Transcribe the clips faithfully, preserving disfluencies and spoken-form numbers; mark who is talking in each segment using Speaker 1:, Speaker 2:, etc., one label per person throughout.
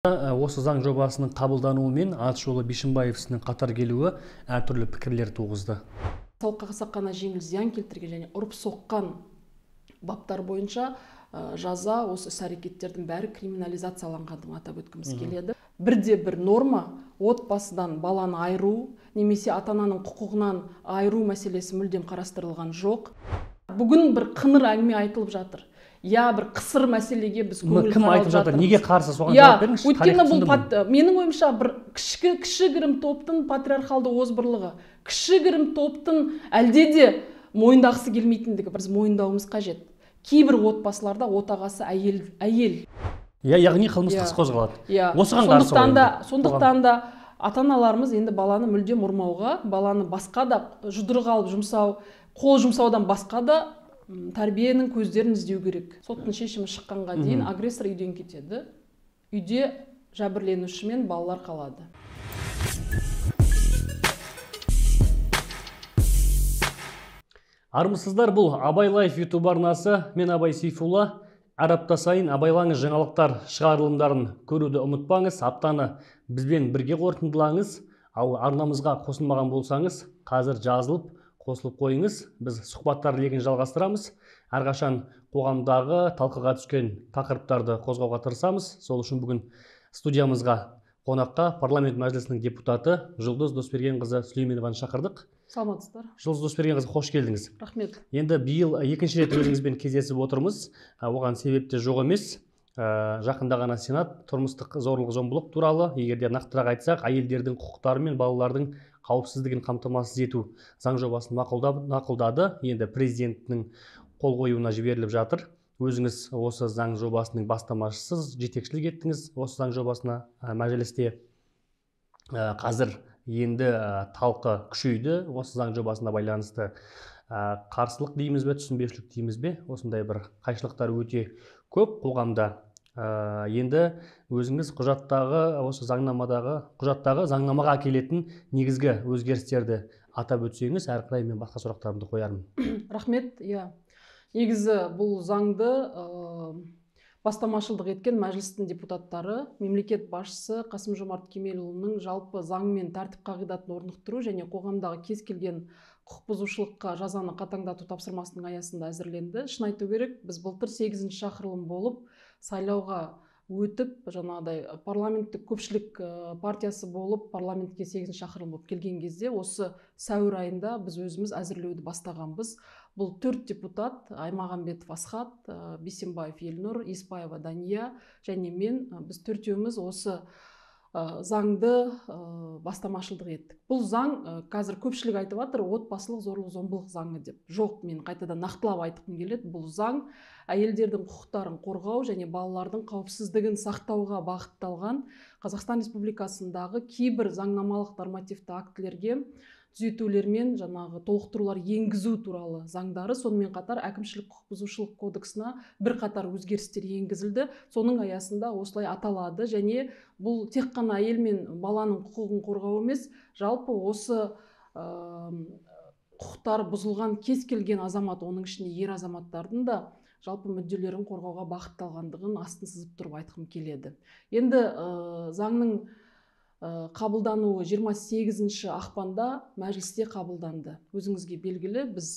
Speaker 1: Осы заң жобасының қабылдануымен Атышулы Бишімбаевтың қатар келуі әртүрлі пікірлер туғызды.
Speaker 2: Салыққа қасақана жеңіл зиян келтірген және ұрып соққан баптар бойынша жаза осы іс-әрекеттердің бәрі криминализацияланғандығын атап өткіміз келеді. Бірде бір норма отбасыдан баланы айыру немесе ата-ананың құқығынан айыру мәселесі мүлдем қарастырылған жоқ. Бүгін бір қыңыр әңгіме айтылып жатыр. Я бір қысыр мәселеге біз көңіл
Speaker 1: қарап жатырмыз. Неге қарсы, соған жауап беріңізші.
Speaker 2: Өйткені бұл менің ойымша бір кішігірім топтың патриархалды озбырлығы, кішігірім топтың әлде де мойындағысы келмейтіндігі біз мойындауымыз қажет. Кейбір отбасыларда отағасы әйел әйел.
Speaker 1: Яғни қылмыстық іс қозғалады.
Speaker 2: Осыған қарсы. Сондықтан да ата-аналарымыз енді баланы мүлдем ұрмауға, баланы басқа да жұдырық алып жұмсау, қол жұмсаудан басқа да тәрбиенің көздерін іздеу керек. Соттың шешімі шыққанға дейін агрессор үйден кетеді. Үйде жәбірленуші мен балалар қалады.
Speaker 1: Армысыздар, бұл Абай Лайф YouTube арнасы. Мен Абай Сейфулла. Әр апта сайын абайлаңыз жаңалықтар шығарылымдарын көруді ұмытпаңыз. Аптаны бізбен бірге қорытындылаңыз. Ал арнамызға қосылмаған болсаңыз, қазір жазылып қосылып қойыңыз. Біз сұхбаттар легін жалғастырамыз. Әрқашан қоғамдағы талқыға түскен тақырыптарды қозғауға тырысамыз. Сол үшін бүгін студиямызға қонаққа парламент мәжілісінің депутаты Жұлдыз Досбергенқызы Сүлейменованы шақырдық.
Speaker 2: Саламатсыздар.
Speaker 1: Жұлдыз Досбергенқызы, қош келдіңіз.
Speaker 2: Рахмет.
Speaker 1: Енді биыл екінші рет өзіңізбен кездесіп отырмыз. Оған себеп те жоқ емес. Жақында ғана Сенат тұрмыстық зорлық-зомбылық туралы, егерде нақтырақ айтсақ, әйелдердің құқықтары мен балалардың қауіпсіздігін қамтамасыз ету заң жобасын мақұлдады. Енді президенттің қол қоюына жіберіліп жатыр. Өзіңіз осы заң жобасының бастамашысыз, жетекшілік еттіңіз осы заң жобасына мәжілісте. Қазір енді талқы күшейді. Осы заң жобасына байланысты қарсылық дейміз бе, түсінбеушілік дейміз бе? Осындай бір қайшылықтар өте көп қоғамда. Енді өзіңіз құжаттағы, осы заңнамадағы, құжаттағы заңнамаға әкелетін негізгі өзгерістерді атап өтсеңіз, әрі қарай мен басқа сұрақтарымды қоярмын.
Speaker 2: Рахмет. Иә. Негізі бұл заңды бастамашылдық еткен мәжілістің депутаттары мемлекет басшысы Қасым-Жомарт Кемелұлының жалпы заң мен тәртіп қағидатын орнықтыру және қоғамдағы кез келген құқық бұзушылыққа жазаны қатаңдату тапсырмасының аясында әзірленді. Шын айту керек, біз былтыр сегізінші шақырылым болып сайлауға өтіп, жаңағыдай парламенттік көпшілік партиясы болып парламентке сегізінші шақырылым болып келген кезде осы сәуір айында біз өзіміз әзірлеуді бастағанбыз. Бұл төрт депутат: Аймағамбетов Асхат, Бисембаев Елнұр, Еспаева Дания және мен, біз төртеуміз осы заңды бастамашылдық еттік. Бұл заң қазір көпшілік айтып жатыр, отбасылық зорлық-зомбылық заңы деп. Жоқ, мен қайтадан нақтылап айтқым келеді. Бұл заң әйелдердің құқықтарын қорғау және балалардың қауіпсіздігін сақтауға бағытталған Қазақстан Республикасындағы кейбір заңнамалық нормативті актілерге түзетулер мен жаңағы толықтырулар енгізу туралы заңдары, сонымен қатар әкімшілік құқық бұзушылық кодексіне бір қатар өзгерістер енгізілді. Соның аясында осылай аталады және бұл тек қана әйел мен баланың құқығын қорғау емес, жалпы осы құқықтар бұзылған кез келген азамат, оның ішінде ер азаматтардың да жалпы мүдделерін қорғауға бағытталғандығын астын сызып тұрып айтқым келеді. Енді заңның қабылдануы жиырма сегізінші ақпанда мәжілісте қабылданды. Өзіңізге белгілі, біз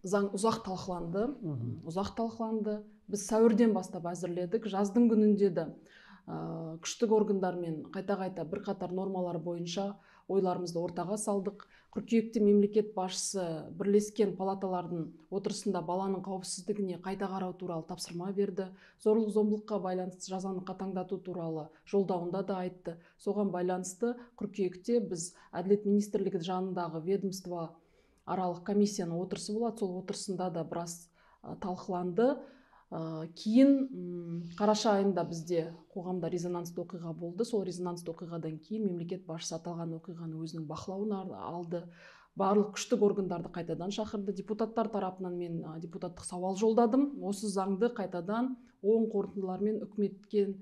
Speaker 2: заң ұзақ талқыланды, ұзақ талқыланды. Біз сәуірден бастап әзірледік. Жаздың күнінде де күштік органдармен қайта-қайта бір қатар нормалар бойынша ойларымызды ортаға салдық. Қыркүйекте мемлекет басшысы бірлескен палаталардың отырысында баланың қауіпсіздігіне қайта қарау туралы тапсырма берді. Зорлық-зомбылыққа байланысты жазаны қатаңдату туралы жолдауында да айтты. Соған байланысты қыркүйекте біз Әділет министрлігі жанындағы ведомство аралық комиссияның отырысы болады. Сол отырысында да біраз талқыланды. Кейін қараша айында бізде қоғамда резонансты оқиға болды. Сол резонансты оқиғадан кейін мемлекет басшысы аталған оқиғаны өзінің бақылауына алды. Барлық күштік органдарды қайтадан шақырды. Депутаттар тарапынан мен депутаттық сауал жолдадым. Осы заңды қайтадан оң қорытындылармен үкіметке,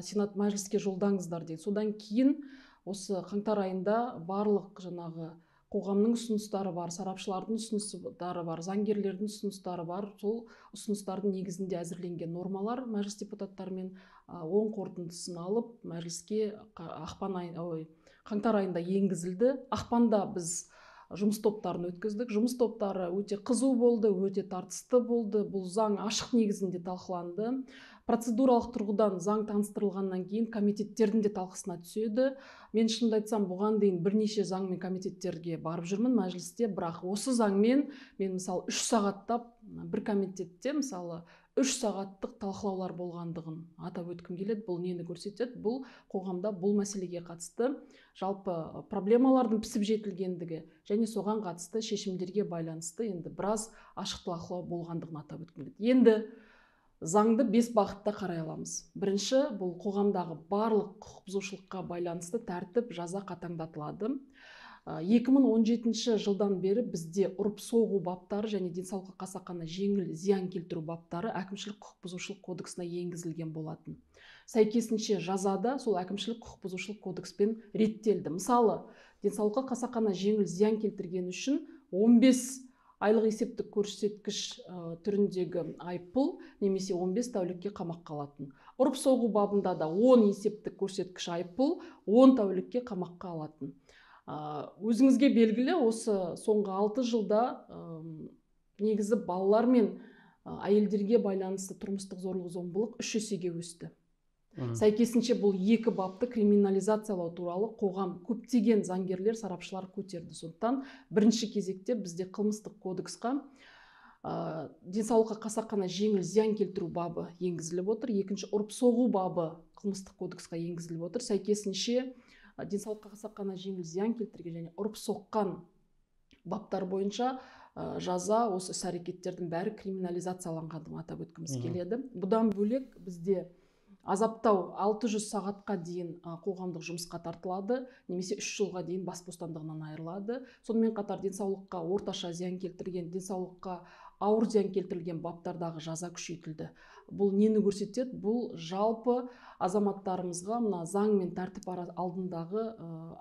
Speaker 2: Сенат мәжіліске жолдаңыздар дейді. Содан кейін осы қаңтар айында барлық жаңағы қоғамның ұсыныстары бар, сарапшылардың ұсыныстары бар, заңгерлердің ұсыныстары бар. Сол ұсыныстардың негізінде әзірленген нормалар мәжіліс депутаттарымен оң қорытындысын алып, мәжіліске ақпан ай, ой, қаңтар айында енгізілді. Ақпанда біз жұмыс топтарын өткіздік. Жұмыс топтары өте қызу болды, өте тартысты болды. Бұл заң ашық негізінде талқыланды. Процедуралық тұрғыдан заң таныстырылғаннан кейін комитеттердің де талқысына түседі. Мен шынымды айтсам, бұған дейін бірнеше заң мен комитеттерге барып жүрмін мәжілісте, бірақ осы заңмен мен мысалы үш сағаттап бір комитетте мысалы үш сағаттық талқылаулар болғандығын атап өткім келеді. Бұл нені көрсетеді? Бұл қоғамда бұл мәселеге қатысты жалпы проблемалардың пісіп жетілгендігі және соған қатысты шешімдерге байланысты енді біраз ашық талқылау болғандығын атап өткім келеді. Енді заңды бес бағытта қарай аламыз. Бірінші, бұл қоғамдағы барлық құқық бұзушылыққа байланысты тәртіп, жаза қатаңдатылады. екі мың он жетінші жылдан бері бізде ұрып соғу баптары және денсаулыққа қасақана жеңіл зиян келтіру баптары әкімшілік құқық бұзушылық кодексіне енгізілген болатын. Сәйкесінше жазада сол әкімшілік құқық бұзушылық кодекспен реттелді. Мысалы, денсаулыққа қасақана жеңіл зиян келтірген үшін он бес айлық есептік көрсеткіш түріндегі айыппұл немесе он бес тәулікке қамаққа алатын. Ұрып соғу бабында да он есептік көрсеткіш айыппұл он тәулікке қамаққа алатын. Өзіңізге белгілі, осы соңғы алты жылда негізі балалар мен әйелдерге байланысты тұрмыстық зорлық-зомбылық үш есеге өсті. Сәйкесінше бұл екі бапты криминализациялау туралы қоғам көптеген заңгерлер, сарапшылар көтерді. Сондықтан бірінші кезекте бізде қылмыстық кодексқа денсаулыққа қасақана жеңіл зиян келтіру бабы енгізіліп отыр. Екінші, ұрып соғу бабы қылмыстық кодексқа енгізіліп отыр. Сәйкесінше денсаулыққа қасақана жеңіл зиян келтірген және ұрып соққан баптар бойынша жаза осы іс-әрекеттердің бәрі криминализацияланғандығын атап өткіміз келеді. Бұдан бөлек бізде азаптау алты жүз сағатқа дейін қоғамдық жұмысқа тартылады, немесе үш жылға дейін бас бостандығынан айырылады. Сонымен қатар денсаулыққа орташа зиян келтірген, денсаулыққа ауыр зиян келтірілген баптардағы жаза күшейтілді. Бұл нені көрсетеді? Бұл жалпы азаматтарымызға мына заң мен тәртіп алдындағы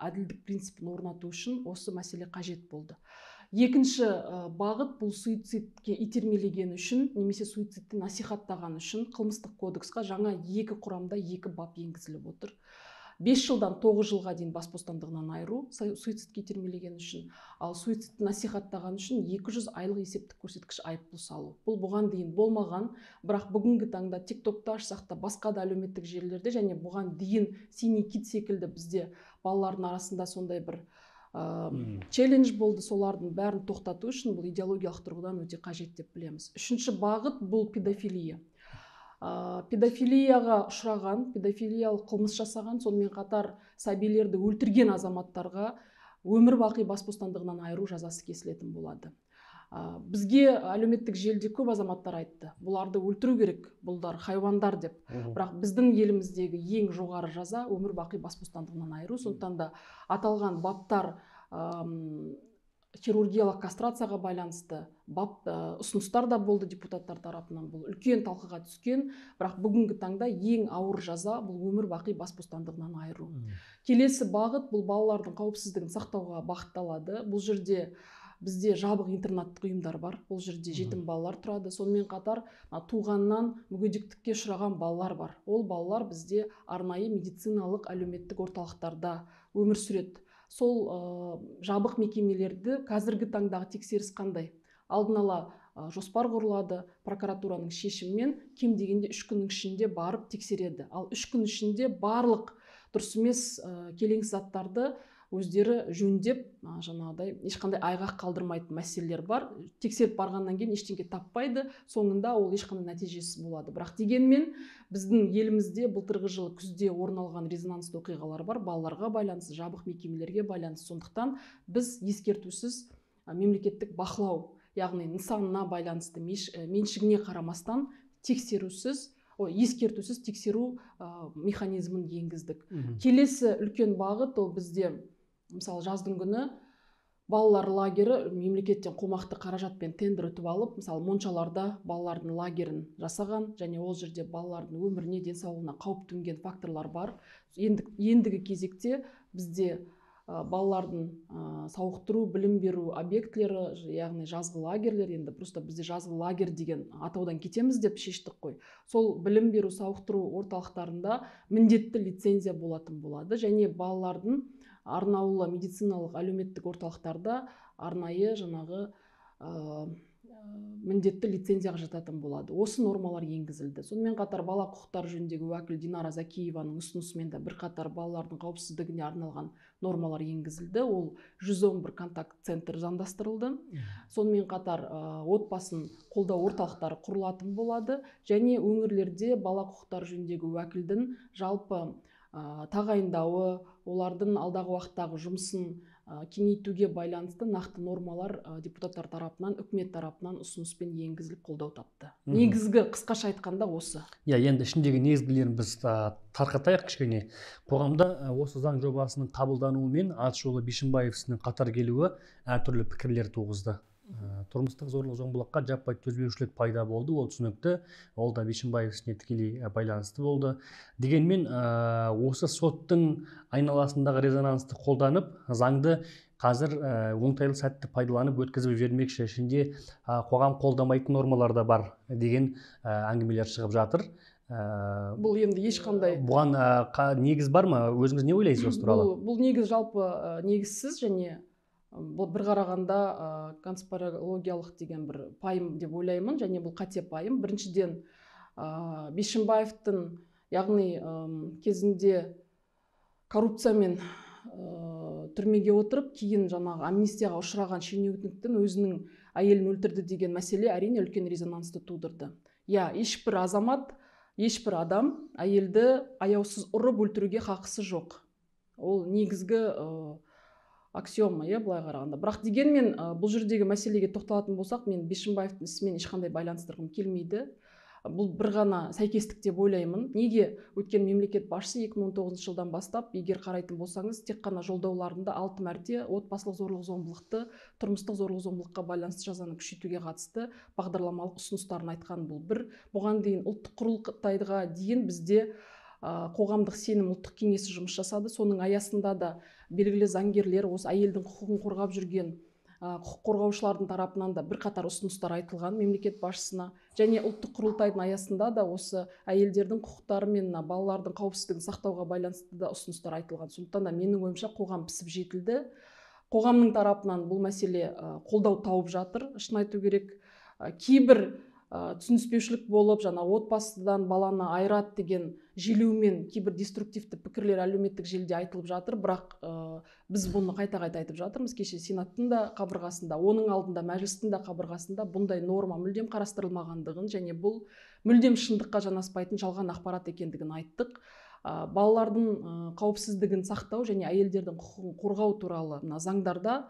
Speaker 2: әділдік принципін орнату үшін осы мәселе қажет болды. Екінші бағыт бұл суицидке итермелеген үшін немесе суицидті насихаттаған үшін қылмыстық кодексқа жаңа екі құрамда екі бап енгізіліп отыр. бес жылдан тоғыз жылға дейін бас бостандығынан айыру суицидке итермелеген үшін, ал суицидті насихаттаған үшін екі жүз айлық есептік көрсеткіш айыппұл салу. Бұл бұған дейін болмаған, бірақ бүгінгі таңда тиктокта ашсақ та басқа да әлеуметтік желілерде және бұған дейін синий кит секілді бізде балалардың арасында сондай бір челлендж болды, солардың бәрін тоқтату үшін бұл идеологиялық тұрғыдан өте қажет деп білеміз. Үшінші бағыт бұл педофилия. Педофилияға ұшыраған, педофилиялық қылмыс жасаған, сонымен қатар сәбилерді өлтірген азаматтарға өмір бақи бас бостандығынан айыру жазасы кесілетін болады. Бізге әлеуметтік желіде көп азаматтар айтты, бұларды өлтіру керек, бұлдар хайуандар деп. Бірақ біздің еліміздегі ең жоғары жаза өмір бақи бас бостандығынан айыру. Сондықтан да аталған баптар хирургиялық кастрацияға байланысты бап ұсыныстар да болды депутаттар тарапынан. Бұл үлкен талқыға түскен, бірақ бүгінгі таңда ең ауыр жаза бұл өмір бақи бас бостандығынан айыру. Келесі бағыт бұл балалардың қауіпсіздігін сақтауға бағытталады. Бұл жерде бізде жабық интернаттық ұйымдар бар. Ол жерде жетім балалар тұрады. Сонымен қатар туғаннан мүгедектікке ұшыраған балалар бар. Ол балалар бізде арнайы медициналық әлеуметтік орталықтарда өмір сүреді. Сол жабық мекемелерді қазіргі таңдағы тексеріс қандай? Алдын ала жоспар құрылады, прокуратураның шешімімен кем дегенде үш күннің ішінде барып тексереді. Ал үш күн ішінде барлық дұрыс емес келеңсіз заттарды өздері жөндеп, жаңағыдай ешқандай айғақ қалдырмайтын мәселелер бар. Тексеріп барғаннан кейін ештеңе таппайды, соңында ол ешқандай нәтижесіз болады. Бірақ дегенмен біздің елімізде былтырғы жылы күзде орын алған резонансты оқиғалар бар, балаларға байланысты, жабық мекемелерге байланысты. Сондықтан біз ескертусіз мемлекеттік бақылау, яғни нысанына байланысты меншігіне қарамастан тексерусіз ескертусіз тексеру механизмін енгіздік. Келесі үлкен бағыт ол бізде мысалы жаздың күні балалар лагері мемлекеттен қомақты қаражатпен тендер ұтып алып, мысалы моншаларда балалардың лагерін жасаған және ол жерде балалардың өміріне, денсаулығына қауіп төнген факторлар бар. Ендігі кезекте бізде балалардың сауықтыру, білім беру объектілері, яғни жазғы лагерлер, енді просто бізде жазғы лагерь деген атаудан кетеміз деп шештік қой. Сол білім беру, сауықтыру орталықтарында міндетті лицензия болатын болады, және балалардың арнаулы медициналық әлеуметтік орталықтарда арнайы жаңағы міндетті лицензияға жататын болады. Осы нормалар енгізілді. Сонымен қатар бала құқықтары жөніндегі уәкіл Динара Закиеваның ұсынысымен де бірқатар балалардың қауіпсіздігіне арналған нормалар енгізілді. Ол жүз он бір контакт центр заңдастырылды. Сонымен қатар отбасын қолдау орталықтары құрылатын болады, және өңірлерде бала құқықтары жөніндегі уәкілдің жалпы тағайындауы, олардың алдағы уақыттағы жұмысын кеңейтуге байланысты нақты нормалар депутаттар тарапынан, үкімет тарапынан ұсыныспен енгізіліп қолдау тапты. Негізгі қысқаша айтқанда осы.
Speaker 1: Иә, енді ішіндегі негізгілерін біз тарқатайық кішкене. Қоғамда осы заң жобасының қабылдануымен Атышулы Бишімбаевсының қатар келуі әртүрлі пікірлер туғызды. Тұрмыстық зорлық зомбылыққа жаппай төзбеушілік пайда болды, ол түсінікті, ол да Бишімбаев ісіне тікелей байланысты болды. Дегенмен осы соттың айналасындағы резонансты қолданып, заңды қазір оңтайлы сәтті пайдаланып өткізіп жібермекші, ішінде қоғам қолдамайтын нормалар да бар деген әңгімелер шығып жатыр.
Speaker 2: Бұл енді ешқандай
Speaker 1: бұған негіз бар ма? Өзіңіз не ойлайсыз осы туралы?
Speaker 2: Бұл негіз жалпы негізсіз, және бұл бір қарағанда конспирологиялық деген бір пайым деп ойлаймын, және бұл қате пайым. Біріншіден, Бишімбаевтың, яғни кезінде коррупциямен түрмеге отырып, кейін жаңағы амнистияға ұшыраған шенеуніктің өзінің әйелін өлтірді деген мәселе әрине үлкен резонансты тудырды. Я, ешбір азамат, ешбір адам әйелді аяусыз ұрып өлтіруге хақысы жоқ. Ол негізгі аксиома, иә, былай қарағанда. Бірақ дегенмен бұл жердегі мәселеге тоқталатын болсақ, мен Бишімбаевтың ісімен ешқандай байланыстырғым келмейді. Бұл бір ғана сәйкестік деп ойлаймын. Неге? Өткен мемлекет басшысы екі мың он тоғызыншы жылдан бастап, егер қарайтын болсаңыз, тек қана жолдауларында алты мәрте отбасылық зорлық зомбылықты, тұрмыстық зорлық зомбылыққа байланысты жазаны күшейтуге қатысты бағдарламалық ұсыныстарын айтқан. Бұл бір. Бұған дейін ұлттық құрылтайға дейін бізде қоғамдық сенім ұлттық кеңесі жұмыс жасады. Соның аясында да белгілі заңгерлер, осы әйелдің құқығын қорғап жүрген құқық қорғаушылардың тарапынан да бірқатар ұсыныстар айтылған мемлекет басшысына, және ұлттық құрылтайдың аясында да осы әйелдердің құқықтары мен балалардың қауіпсіздігін сақтауға байланысты да ұсыныстар айтылған. Сондықтан да менің ойымша қоғам пісіп жетілді. Қоғамның тарапынан бұл мәселе қолдау тауып жатыр. Шын айту керек, кейбір түсініспеушілік болып, жаңа отбасыдан баланы айырады деген желеумен кейбір деструктивті пікірлер әлеуметтік желіде айтылып жатыр. Бірақ біз бұны қайта-қайта айтып жатырмыз. Кеше Сенаттың да қабырғасында, оның алдында мәжілістің да қабырғасында бұндай норма мүлдем қарастырылмағандығын, және бұл мүлдем шындыққа жанаспайтын жалған ақпарат екендігін айттық. Балалардың қауіпсіздігін сақтау және әйелдердің құқығын қорғау туралы заңдарда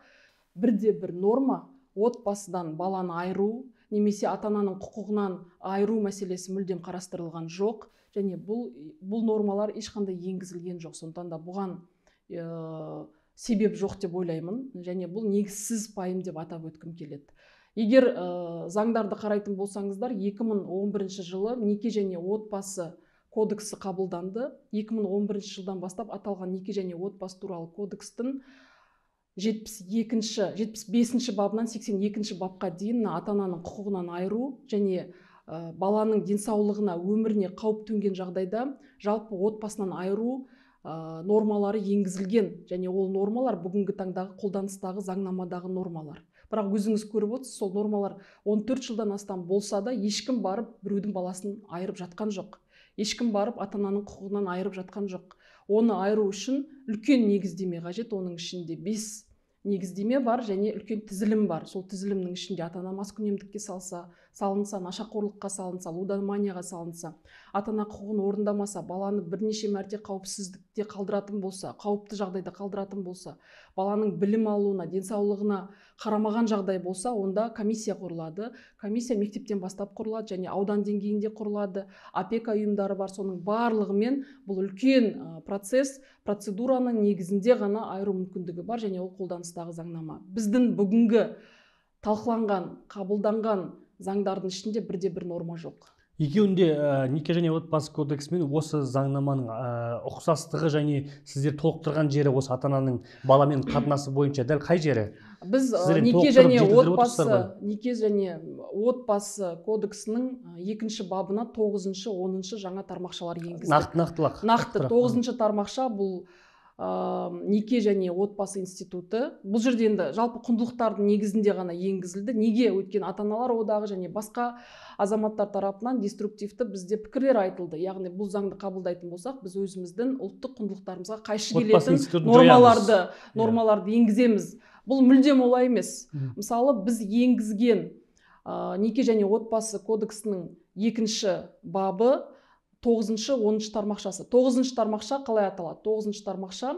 Speaker 2: бірде бір норма отбасыдан баланы айыру немесе ата-ананың құқығынан айыру мәселесі мүлдем қарастырылған жоқ, және бұл бұл нормалар ешқандай енгізілген жоқ. Сондықтан да бұған ә, себеп жоқ деп ойлаймын, және бұл негізсіз пайым деп атап өткім келеді. Егер ә, заңдарды қарайтын болсаңыздар, екі мың он бірінші жылы неке және отбасы кодексі қабылданды. екі мың он бірінші жылдан бастап аталған неке және отбасы туралы кодекстің жетпіс екінші, жетпіс бесінші бабынан сексен екінші бапқа дейін ата-ананың құқығынан айыру және ә, баланың денсаулығына, өміріне қауіп төнген жағдайда жалпы отбасынан айыру ә, нормалары енгізілген, және ол нормалар бүгінгі таңдағы қолданыстағы заңнамадағы нормалар. Бірақ өзіңіз көріп отырсыз, сол нормалар он төрт жылдан астам болса да ешкім барып біреудің баласын айырып жатқан жоқ. Ешкім барып ата-ананың құқығынан айырып жатқан жоқ. Оны айыру үшін үлкен негіздеме қажет, оның ішінде бес негіздеме бар және үлкен тізілім бар. Сол тізілімнің ішінде ата-ана маскүнемдікке салса, салынса, нашақорлыққа салынса, лудоманияға салынса, ата-ана құқығын орындамаса, баланы бірнеше мәрте қауіпсіздікте қалдыратын болса, қауіпті жағдайда қалдыратын болса, баланың білім алуына, денсаулығына қарамаған жағдай болса, онда комиссия құрылады. Комиссия мектептен бастап құрылады және аудан деңгейінде құрылады. Опека ұйымдары бар, соның барлығымен бұл үлкен процесс, процедураның негізінде ғана айыру мүмкіндігі бар, және ол қолданыстағы заңнама. Біздің бүгінгі талқыланған, қабылданған заңдардың ішінде бірде бір норма жоқ.
Speaker 1: екеуінде ә, неке және отбасы кодексі мен осы заңнаманың ә, ұқсастығы және сіздер толықтырған жері осы ата ананың баламен қатынасы бойынша дәл қай жері?
Speaker 2: Біз
Speaker 1: Сіздер енді
Speaker 2: неке
Speaker 1: толықтырып
Speaker 2: және
Speaker 1: жетілдіріп
Speaker 2: отбасы
Speaker 1: отырсыздар ғой?
Speaker 2: неке және отбасы кодексінің екінші бабына тоғызыншы оныншы жаңа тармақшалар енгізді.
Speaker 1: Нақты нақтылық.
Speaker 2: Нақты тоғызыншы тармақша бұл ә, неке және отбасы институты. Бұл жерде енді жалпы құндылықтардың негізінде ғана енгізілді. Неге? Өйткені ата-аналар одағы және басқа азаматтар тарапынан деструктивті бізде пікірлер айтылды. Яғни бұл заңды қабылдайтын болсақ, біз өзіміздің ұлттық құндылықтарымызға қайшы келетін нормаларды, нормаларды енгіземіз. Бұл мүлдем олай емес. Мысалы, біз енгізген ә, неке және отбасы кодексінің екінші бабы тоғызыншы оныншы тармақшасы. тоғызыншы тармақша қалай аталады? тоғызыншы тармақша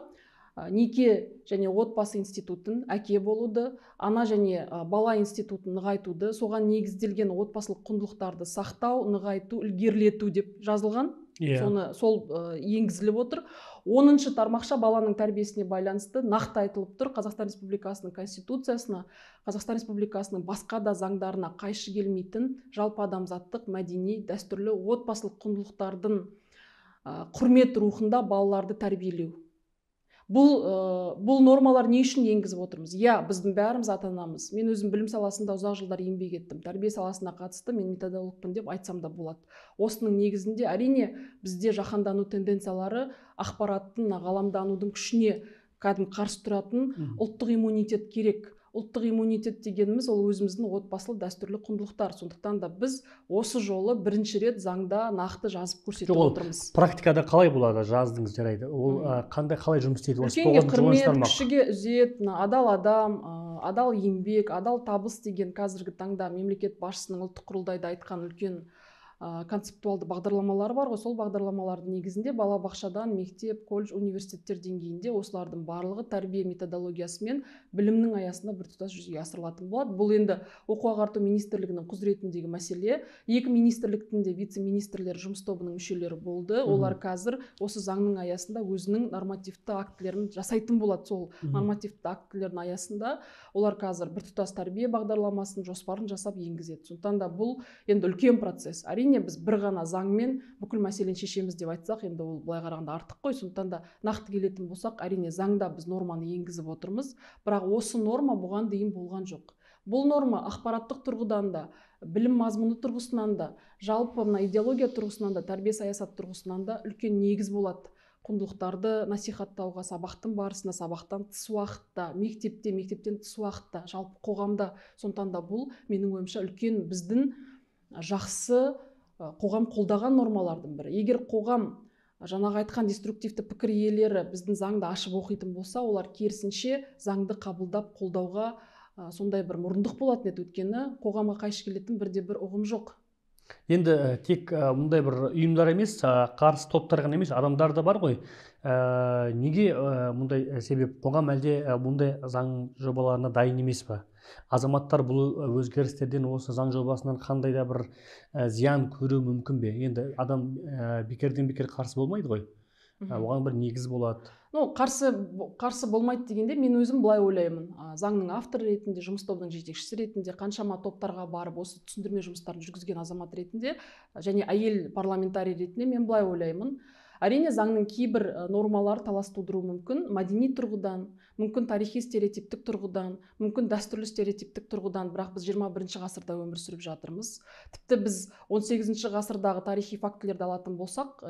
Speaker 2: ә, неке және отбасы институтын, әке болуды, ана және ә, бала институтын нығайтуды, соған негізделген отбасылық құндылықтарды сақтау, нығайту, ілгерілету деп жазылған. Yeah. Соны сол ә, енгізіліп отыр. оныншы тармақша баланың тәрбиесіне байланысты нақты айтылып тұр. Қазақстан Республикасының Конституциясына, Қазақстан Республикасының басқа да заңдарына қайшы келмейтін жалпы адамзаттық, мәдени, дәстүрлі отбасылық құндылықтардың ә, құрмет рухында балаларды тәрбиелеу. Бұл, ә, бұл нормалар не үшін енгізіп отырмыз? Иә, біздің бәріміз ата-анамыз. Мен өзім білім саласында ұзақ жылдар еңбек еттім. Тәрбие саласына қатысты мен методологпын деп айтсам да болады. Осының негізінде әрине бізде жаһандану тенденциялары ақпараттың, ғаламданудың күшіне кәдімгі қарсы тұратын ұлттық иммунитет керек. Ұлттық иммунитет дегеніміз ол өзіміздің отбасылы дәстүрлі құндылықтар. Сондықтан да біз осы жолы бірінші рет заңда нақты жазып көрсетіп отырмыз.
Speaker 1: Практикада қалай болады? Жаздыңыз, жарайды. Ол қандай, қалай жұмыс істейді?
Speaker 2: Үлкенге құрмет, кішіге ізет, адал адам, адал еңбек, адал табыс деген қазіргі таңда мемлекет басшысының ұлттық құрылтайда айтқан үлкен концептуалды бағдарламалары бар ғой. Сол бағдарламалардың негізінде балабақшадан мектеп, колледж, университеттер деңгейінде осылардың барлығы тәрбие методологиясы мен білімнің аясында біртұтас жүзеге асырылатын болады. Бұл енді оқу ағарту министрлігінің құзыретіндегі мәселе. Екі министрліктің де вице-министрлер жұмыс тобының мүшелері болды. Олар қазір осы заңның аясында өзінің нормативті актілерін жасайтын болады. Сол нормативті актілердің аясында олар қазір біртұтас тәрбие бағдарламасын, жоспарын жасап енгізеді. Сондықтан да бұл енді үлкен процесс. Әрине біз бір ғана заңмен бүкіл мәселені шешеміз деп айтсақ, енді ол былай қарағанда артық қой. Сондықтан да нақты келетін болсақ, әрине заңда біз норманы енгізіп отырмыз, бірақ осы норма бұған дейін болған жоқ. Бұл норма ақпараттық тұрғыдан да, білім мазмұны тұрғысынан да, жалпы мына идеология тұрғысынан да, тәрбие саясат тұрғысынан да үлкен негіз болады. Құндылықтарды насихаттауға сабақтың барысында, сабақтан тыс уақытта, мектепте, мектептен тыс уақытта, жалпы қоғамда. Сондықтан да бұл менің ойымша үлкен біздің жақсы қоғам қолдаған нормалардың бірі. Егер қоғам жаңағы айтқан деструктивті пікір иелері біздің заңды ашып оқитын болса, олар керісінше заңды қабылдап қолдауға сондай бір мұрындық болатын еді. Өйткені қоғамға қайшы келетін бірде бір ұғым жоқ.
Speaker 1: Енді тек мұндай бір ұйымдар емес, қарсы топтар ғана емес, адамдар да бар ғой. Неге мұндай себеп? Қоғам әлде мұндай заң жобаларына дайын емес па? Азаматтар бұл өзгерістерден, осы заң жобасынан қандай да бір зиян көру мүмкін бе? Енді адам бекерден бекер қарсы болмайды ғой. Оған бір негіз болады.
Speaker 2: Ну, қарсы, қарсы болмайды дегенде мен өзім былай ойлаймын. Заңның авторы ретінде, жұмыс тобының жетекшісі ретінде, қаншама топтарға барып осы түсіндірме жұмыстарын жүргізген азамат ретінде және әйел парламентарий ретінде мен былай ойлаймын. Әрине заңның кейбір нормалары талас тудыруы мүмкін, мәдени тұрғыдан, мүмкін тарихи стереотиптік тұрғыдан, мүмкін дәстүрлі стереотиптік тұрғыдан, бірақ біз жиырма бірінші ғасырда өмір сүріп жатырмыз. Тіпті біз он сегізінші ғасырдағы тарихи фактілерді алатын болсақ,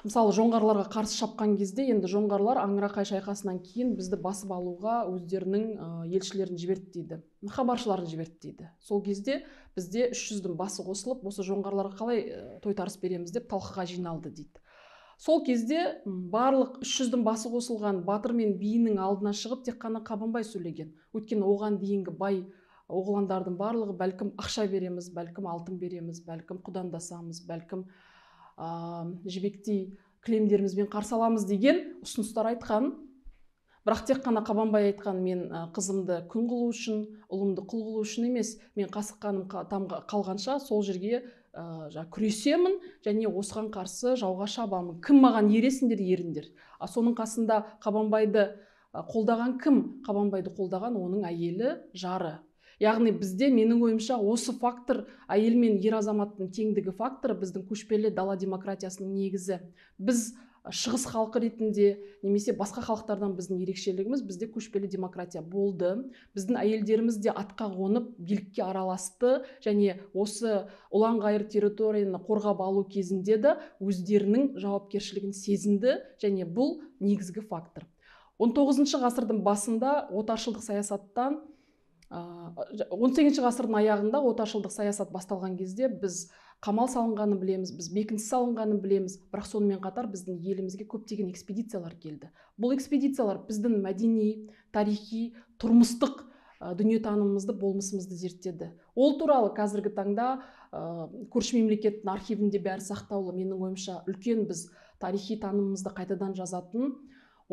Speaker 2: мысалы жоңғарларға қарсы шапқан кезде енді жоңғарлар Аңырақай шайқасынан кейін бізді басып алуға өздерінің елшілерін жіберді дейді, хабаршыларын жіберді дейді. Сол кезде бізде үш жүздің басы қосылып, осы жоңғарларға қалай тойтарыс береміз деп талқыға жиналды дейді. Сол кезде барлық үш жүздің басы қосылған батыр мен биінің алдына шығып тек қана Қабанбай сөйлеген. Өйткені оған дейінгі бай оғландардың барлығы бәлкім ақша береміз, бәлкім алтын береміз, бәлкім құдандасамыз, бәлкім жібектей кілемдерімізбен қарсы аламыз деген ұсыныстар айтқан. Бірақ тек қана Қабанбай айтқан, мен қызымды күң қылу үшін, ұлымды құл қылу үшін емес, мен қасық қаным қалғанша сол жерге күресемін және осыған қарсы жауға шабамын. Кім маған ересіңдер, еріңдер. Соның қасында Қабанбайды қолдаған кім? Қабанбайды қолдаған оның әйелі, жары. Яғни бізде менің ойымша осы фактор, әйел мен ер азаматтың теңдігі факторы біздің көшпелі дала демократиясының негізі. Біз шығыс халқы ретінде немесе басқа халықтардан біздің ерекшелігіміз, бізде көшпелі демократия болды. Біздің әйелдеріміз де атқа қонып билікке араласты және осы ұлан-ғайыр территорияны қорғап алу кезінде де өздерінің жауапкершілігін сезінді және бұл негізгі фактор. он тоғызыншы ғасырдың басында отаршылдық саясаттан, он сегізінші ғасырдың аяғында отаршылдық саясат басталған кезде біз қамал салынғанын білеміз, біз бекініс салынғанын білеміз, бірақ сонымен қатар біздің елімізге көптеген экспедициялар келді. Бұл экспедициялар біздің мәдени, тарихи, тұрмыстық дүниетанымымызды, болмысымызды зерттеді. Ол туралы қазіргі таңда көрші мемлекеттің архивінде бәрі сақтаулы. Менің ойымша үлкен біз тарихи танымымызды қайтадан жазатын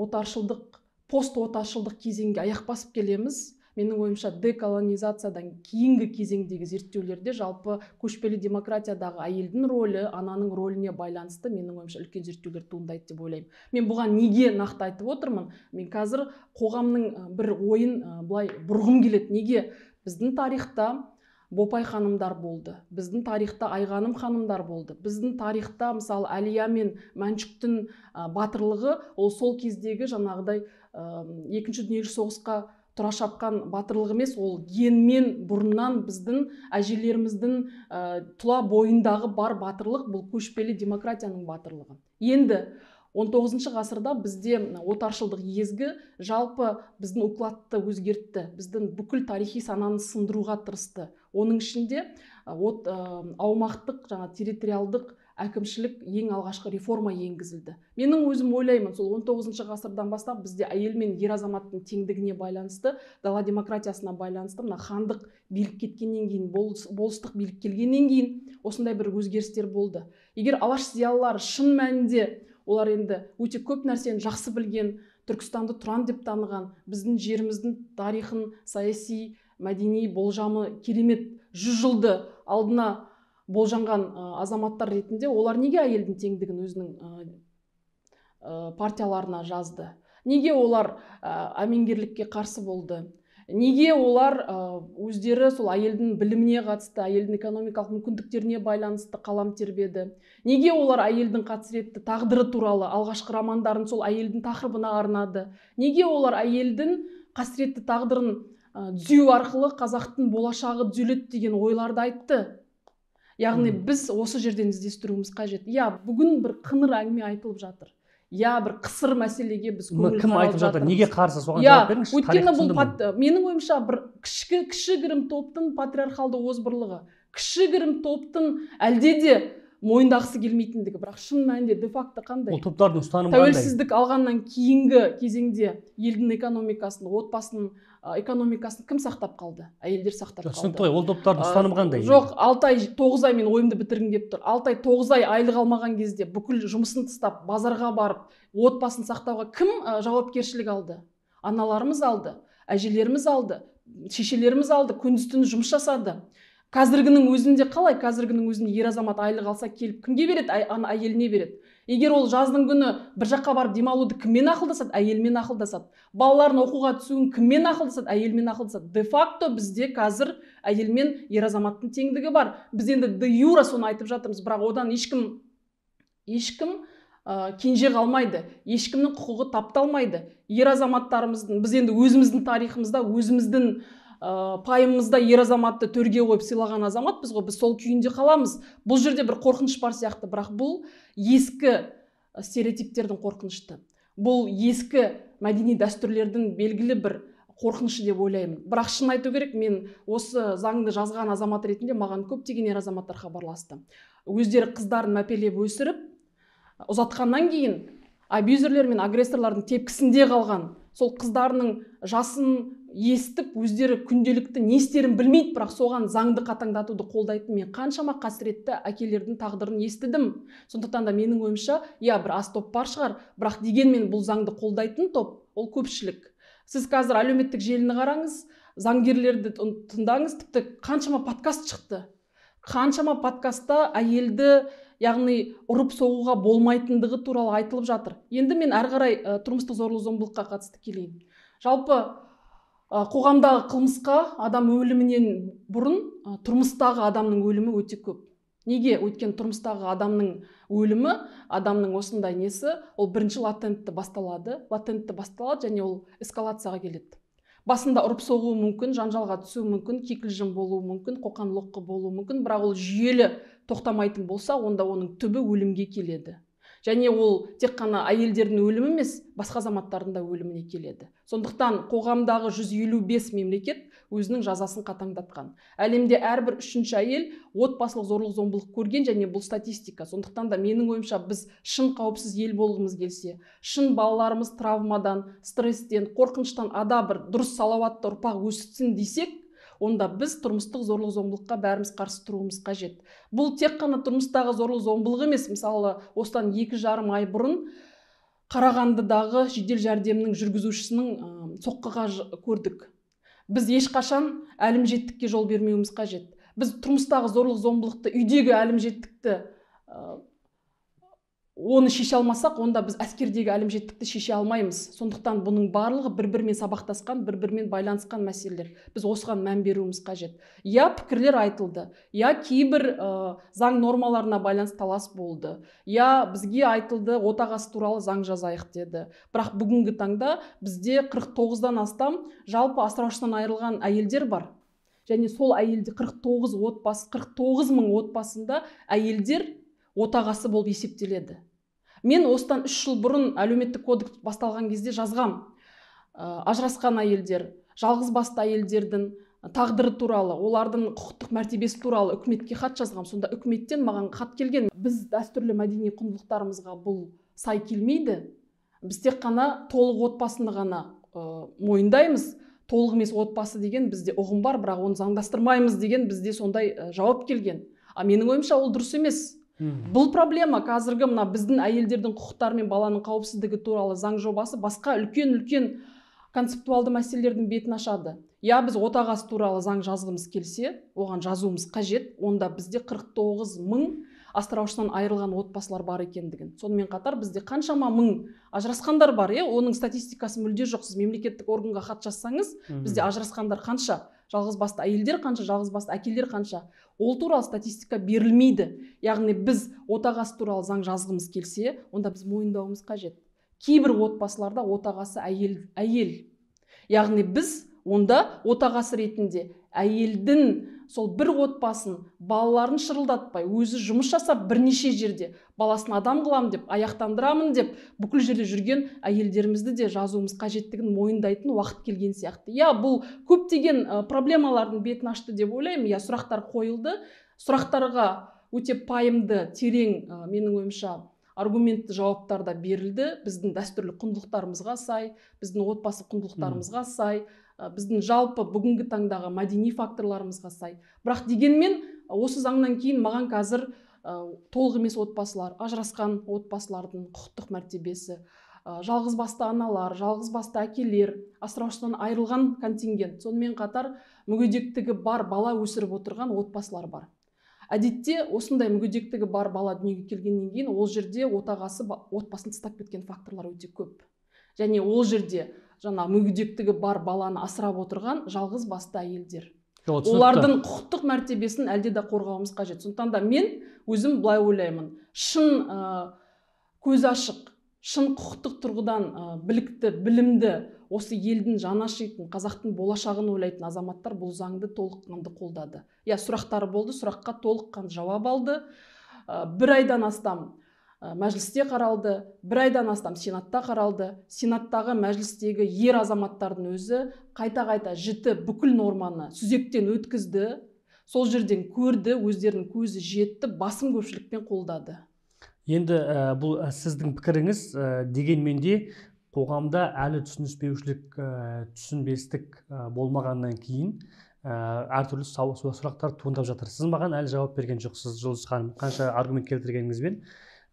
Speaker 2: отаршылдық, пост отаршылдық кезеңге аяқ басып келеміз. Менің ойымша деколонизациядан кейінгі кезеңдегі зерттеулерде жалпы көшпелі демократиядағы әйелдің рөлі, ананың рөліне байланысты менің ойымша үлкен зерттеулер туындайды деп ойлаймын. Мен бұған неге нақты айтып отырмын? Мен қазір қоғамның бір ойын былай бұрғым келеді. Неге? Біздің тарихта Бопай ханымдар болды. Біздің тарихта Айғаным ханымдар болды. Біздің тарихта мысалы Әлия мен Мәншүктің батырлығы ол сол кездегі жаңағыдай екінші дүниежүзілік соғысқа тұра шапқан батырлық емес, ол генмен бұрыннан біздің әжелеріміздің тұла бойындағы бар батырлық, бұл көшпелі демократияның батырлығы. Енді он тоғызыншы ғасырда бізде отаршылдық езгі жалпы біздің укладты өзгертті, біздің бүкіл тарихи сананы сындыруға тырысты. Оның ішінде от, аумақтық, жаңа территориалдық әкімшілік ең алғашқы реформа енгізілді. Менің өзім ойлаймын, сол он тоғызыншы ғасырдан бастап бізде әйел мен ер азаматтың теңдігіне байланысты, дала демократиясына байланысты, мына хандық билік кеткеннен кейін, болыстық билік келгеннен кейін осындай бір өзгерістер болды. Егер алаш зиялылары шын мәнінде олар енді өте көп нәрсені жақсы білген, Түркістанды тұран деп таныған, біздің жеріміздің тарихын, саяси, мәдени болжамы керемет жүз жылды алдына болжанған азаматтар ретінде олар неге әйелдің теңдігін өзінің партияларына жазды? Неге олар әмеңгерлікке қарсы болды? Неге олар өздері сол әйелдің біліміне қатысты, әйелдің экономикалық мүмкіндіктеріне байланысты қалам тербеді? Неге олар әйелдің қасіретті тағдыры туралы алғашқы романдарын сол әйелдің тақырыбына арнады? Неге олар әйелдің қасіретті тағдырын түзеу арқылы қазақтың болашағы түзеледі деген ойларды айтты? Яғни біз осы жерден іздестіруіміз қажет. Я, бүгін бір қыңыр әңгіме айтылып жатыр. Я, бір қысыр мәселеге біз көңіл
Speaker 1: кім айтып жатыр? Неге қарсы? Соған жауап беріңізші.
Speaker 2: Өйткені бұл менің ойымша бір кішігірім топтың патриархалды озбырлығы, кішігірім топтың әлде де мойындағысы келмейтіндігі, бірақ шын мәнінде де-факто қандай?
Speaker 1: Ол топтардың ұстанымы қандай?
Speaker 2: Тәуелсіздік алғаннан кейінгі кезеңде елдің экономикасын, отбасының экономикасын кім сақтап қалды? Әйелдер сақтап қалды.
Speaker 1: Түсінікті ғой, ол топтардың ұстанымы қандай?
Speaker 2: Жоқ, алты ай, тоғыз ай мен ойымды бітіргім келіп тұр. алты ай, тоғыз ай айлық алмаған кезде бүкіл жұмысын тастап, базарға барып, отбасын сақтауға кім жауапкершілік алды? Аналарымыз алды, әжелеріміз алды, шешелеріміз алды, күндіз-түні жұмыс жасады. Қазіргінің өзінде қалай? Қазіргінің өзінде ер азамат айлық алса келіп кімге береді? Әйеліне береді. Егер ол жаздың күні бір жаққа барып демалуды кіммен ақылдасады? Әйелмен ақылдасады. Балаларын оқуға түсуін кіммен ақылдасады? Әйелмен ақылдасады. Де-факто бізде қазір әйел мен ер азаматтың теңдігі бар. Біз енді де-юра соны айтып жатырмыз, бірақ одан ешкім ешкім кенже қалмайды. Ешкімнің құқығы тапталмайды. Ер азаматтарымыздың, біз енді өзіміздің тарихымызда, өзіміздің пайымымызда ер азаматты төрге қойып сыйлаған азамат біз ғой, біз сол күйінде қаламыз. Бұл жерде бір қорқыныш бар сияқты, бірақ бұл ескі стереотиптердің қорқынышты. Бұл ескі мәдени дәстүрлердің белгілі бір қорқынышы деп ойлаймын. Бірақ шын айту керек, мен осы заңды жазған азамат ретінде маған көптеген ер азаматтар хабарласты. Өздері қыздарын мәпелеп өсіріп, ұзатқаннан кейін абьюзерлер мен агрессорлардың тепкісінде қалған сол қыздарының жасын естіп, өздері күнделікті не істерін білмейді, бірақ соған заңды қатаңдатуды қолдайтын мен қаншама қасіретті әкелердің тағдырын естідім. Сондықтан да менің ойымша, я, бір аз топ бар шығар, бірақ дегенмен бұл заңды қолдайтын топ, ол көпшілік. Сіз қазір әлеуметтік желіні қараңыз, заңгерлерді тыңдаңыз, тіпті қаншама подкаст шықты. Қаншама подкастта әйелді, яғни ұрып соғуға болмайтындығы туралы айтылып жатыр. Енді мен әрі қарай тұрмыстық зорлық-зомбылыққа қатысты келейін. Жалпы қоғамдағы қылмысқа адам өлімінен бұрын тұрмыстағы адамның өлімі өте көп. Неге? Өйткені тұрмыстағы адамның өлімі, адамның осындай несі, ол бірінші латентті басталады, латентті басталады және ол эскалацияға келеді. Басында ұрып соғуы мүмкін, жанжалға түсуі мүмкін, кикілжің болуы мүмкін, қоқан-лоққы болуы мүмкін, бірақ ол жүйелі тоқтамайтын болса, онда оның түбі өлімге келеді. Және ол тек қана әйелдердің өлімі емес, басқа азаматтардың да өліміне келеді. Сондықтан қоғамдағы жүз елу бес мемлекет өзінің жазасын қатаңдатқан. Әлемде әрбір үшінші әйел отбасылық зорлық зомбылық көрген, және бұл статистика. Сондықтан да менің ойымша біз шын қауіпсіз ел болғымыз келсе, шын балаларымыз травмадан, стресстен, қорқыныштан ада бір дұрыс салауатты ұрпақ өсітсін десек, онда біз тұрмыстық зорлық зомбылыққа бәріміз қарсы тұруымыз қажет. Бұл тек қана тұрмыстағы зорлық зомбылық емес. Мысалы, осыдан екі жарым ай бұрын Қарағандыдағы жедел жәрдемнің жүргізушісінің соққыға көрдік. Біз ешқашан әлімжеттікке жол бермеуіміз қажет. Біз тұрмыстағы зорлық зомбылықты, үйдегі әлімжеттікті оны шеше алмасақ, онда біз әскердегі әлімжеттікті шеше алмаймыз. Сондықтан бұның барлығы бір-бірімен сабақтасқан, бір-бірімен байланысқан мәселелер. Біз осыған мән беруіміз қажет. Я пікірлер айтылды, я кейбір ә, заң нормаларына байланысты талас болды. Я бізге айтылды, отағасы туралы заң жазайық деді. Бірақ бүгінгі таңда бізде қырық тоғыздан астам жалпы асыраушысынан айырылған әйелдер бар. Және сол әйелде қырық тоғыз отбасы, қырық тоғыз мың отбасында әйелдер отағасы болып есептеледі. Мен осыдан үш жыл бұрын әлеуметтік кодекс басталған кезде жазғам. Ажырасқан әйелдер, жалғыз басты әйелдердің тағдыры туралы, олардың құқықтық мәртебесі туралы үкіметке хат жазғам. Сонда үкіметтен маған хат келген. Біз дәстүрлі мәдени құндылықтарымызға бұл сай келмейді. Біз тек қана толық отбасыны ғана мойындаймыз. Толық емес отбасы деген бізде ұғым бар, бірақ оны заңдастырмаймыз деген бізде сондай жауап келген. А менің ойымша ол дұрыс емес. Бұл проблема қазіргі мына біздің әйелдердің құқықтары мен баланың қауіпсіздігі туралы заң жобасы басқа үлкен-үлкен концептуалды мәселелердің бетін ашады. Я біз отағасы туралы заң жазғымыз келсе, оған жазуымыз қажет. Онда бізде қырық тоғыз мың асыраушысынан айырылған отбасылар бар екендігін. Сонымен қатар бізде қаншама мың ажырасқандар бар, е? Оның статистикасы мүлде жоқ. Сіз мемлекеттік органға хат жазсаңыз, бізде ажырасқандар қанша? Жалғыз басты әйелдер қанша, жалғыз басты әкелер қанша? Ол туралы статистика берілмейді. Яғни біз отағасы туралы заң жазғымыз келсе, онда біз мойындауымыз қажет. Кейбір отбасыларда отағасы әйел, әйел. Яғни біз онда отағасы ретінде әйелдің сол бір отбасын, балаларын шырылдатпай, өзі жұмыс жасап бірнеше жерде баласын адам қылам деп, аяқтандырамын деп, бүкіл жерде жүрген әйелдерімізді де жазуымыз қажеттігін мойындайтын уақыт келген сияқты. Я, бұл көптеген проблемалардың бетін ашты деп ойлаймын. Я, сұрақтар қойылды. Сұрақтарға өте пайымды, терең, менің ойымша, аргументті жауаптар да берілді. Біздің дәстүрлі құндылықтарымызға сай, біздің отбасы құндылықтарымызға сай, біздің жалпы бүгінгі таңдағы мәдени факторларымызға сай. Бірақ дегенмен осы заңнан кейін маған қазір толық емес отбасылар, ажырасқан отбасылардың құқықтық мәртебесі, жалғыз басты аналар, жалғыз басты әкелер, асыраушысынан айырылған контингент, сонымен қатар мүгедектігі бар бала өсіріп отырған отбасылар бар. Әдетте осындай мүгедектігі бар бала дүниеге келгеннен кейін ол жерде отағасы отбасын тастап кеткен факторлар өте көп. Және ол жерде жаңа мүгедектігі бар баланы асырап отырған жалғыз басты әйелдер. Олардың құқықтық мәртебесін әлде де қорғауымыз қажет. Сондықтан да мен өзім былай ойлаймын. Шын көз ашық, шын құқықтық тұрғыдан білікті, білімді, осы елдің жаны ашитын, қазақтың болашағын ойлайтын азаматтар бұл заңды толыққанды қолдады. Я, сұрақтары болды, сұраққа толыққанды жауап алды. Бір айдан астам мәжілісте қаралды, бір айдан астам сенатта қаралды. Сенаттағы мәжілістегі ер азаматтардың өзі қайта-қайта жіті бүкіл норманы сүзектен өткізді. Сол жерден көрді, өздерінің көзі жетті, басым көпшілікпен қолдады.
Speaker 1: Енді бұл сіздің пікіріңіз, дегенмен де қоғамда әлі түсініспеушілік, түсінбестік болмағаннан кейін әртүрлі сұрақтар туындап жатыр. Сіз маған әлі жауап берген жоқсыз, Жұлдыз ханым, қанша аргумент келтіргеніңізбен.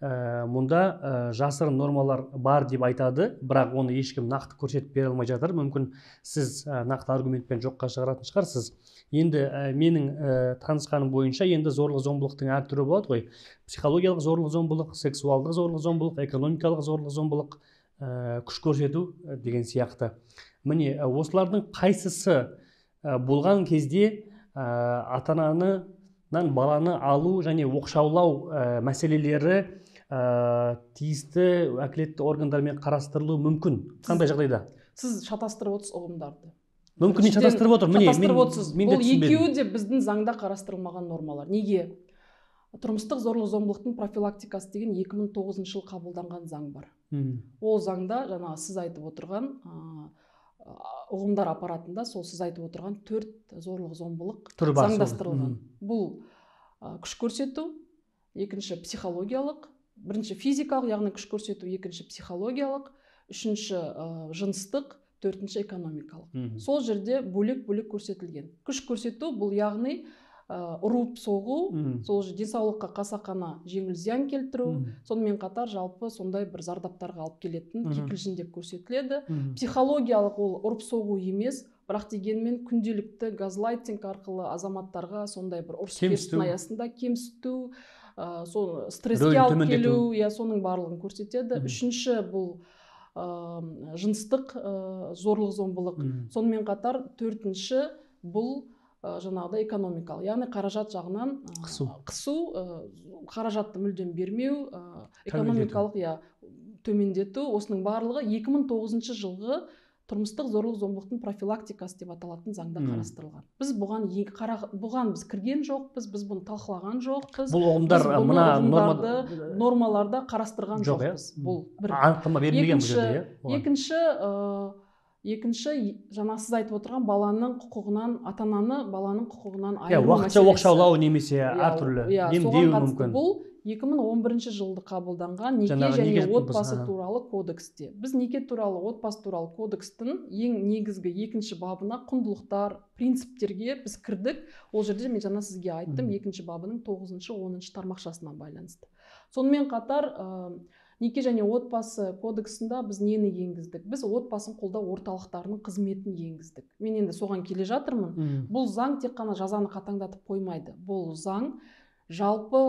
Speaker 1: Мұнда жасырын нормалар бар деп айтады, бірақ оны ешкім нақты көрсетіп бере алмай жатыр. Мүмкін сіз нақты аргументпен жоққа шығаратын шығарсыз. Енді менің танысқаным бойынша енді зорлық зомбылықтың әр түрі болады ғой. Психологиялық зорлық зомбылық, сексуалдық зорлық зомбылық, экономикалық зорлық зомбылық, күш көрсету деген сияқты. Міне осылардың қайсысы болған кезде ата-ананан баланы алу және оқшаулау мәселелері тиісті уәкілетті органдармен қарастырылуы мүмкін? Қандай жағдайда?
Speaker 2: Сіз шатастырып отырсыз ұғымдарды.
Speaker 1: Мүмкін мен шатастырып отырмын.
Speaker 2: Шатастырып отырсыз. Бұл екеуі де біздің заңда қарастырылмаған нормалар. Неге? Тұрмыстық зорлық-зомбылықтың профилактикасы деген екі мың тоғызыншы жылы қабылданған заң бар. Ол заңда жаңағы сіз айтып отырған ұғымдар аппаратында сол сіз айтып отырған төрт зорлық-зомбылық заңдастырылған. Бұл күш көрсету, екінші психологиялық, бірінші физикалық, яғни күш көрсету, екінші психологиялық, үшінші жыныстық, төртінші экономикалық. Сол жерде бөлек-бөлек көрсетілген. Күш көрсету бұл яғни ұрып соғу, сол денсаулыққа қасақана жеңіл зиян келтіру, сонымен қатар жалпы сондай бір зардаптарға алып келетін кикілжің деп көрсетіледі. Психологиялық ол ұрып соғу емес, бірақ дегенмен күнделікті газлайтинг арқылы азаматтарға сондай бір ұрыс-керістің аясында кемсіту, стресске алып келу, соның барлығын көрсетеді. Үшінші бұл жыныстық зорлық-зомбылық. Сонымен қатар төртінші бұл жаңағыда экономикалық, яғни қаражат жағынан қысу, қаражатты мүлдем бермеу, экономикалық төмендету. Осының барлығы екі мың тоғызыншы жылғы тұрмыстық зорлық-зомбылықтың профилактикасы деп аталатын заңда қарастырылған. Біз бұған бұған біз кірген жоқпыз, біз бұны талқылаған жоқпыз.
Speaker 1: Бұл ұғымдар мына
Speaker 2: нормаларда қарастырған жоқпыз. Бұл бір.
Speaker 1: Анықтама берілмеген бұл жерде.
Speaker 2: Екінші Екінші, жаңа сіз айтып отырған баланың құқығынан, ата-ананы баланың құқығынан айыру мәселесі.
Speaker 1: Уақытша оқшаулау немесе әртүрлі емдеу мүмкін.
Speaker 2: Бұл екі мың он бірінші жылды қабылданған неке және отбасы туралы кодексте. Біз неке туралы, отбасы туралы кодекстің ең негізгі екінші бабына құндылықтар, принциптерге біз кірдік. Ол жерде мен жаңа сізге айттым, екінші бабының тоғызыншы оныншы тармақшасына байланысты. Сонымен қатар неке және отбасы кодексында біз нені енгіздік? Біз отбасын қолдау орталықтарының қызметін енгіздік. Мен енді соған келе жатырмын. Бұл заң тек қана жазаны қатаңдатып қоймайды. Бұл заң жалпы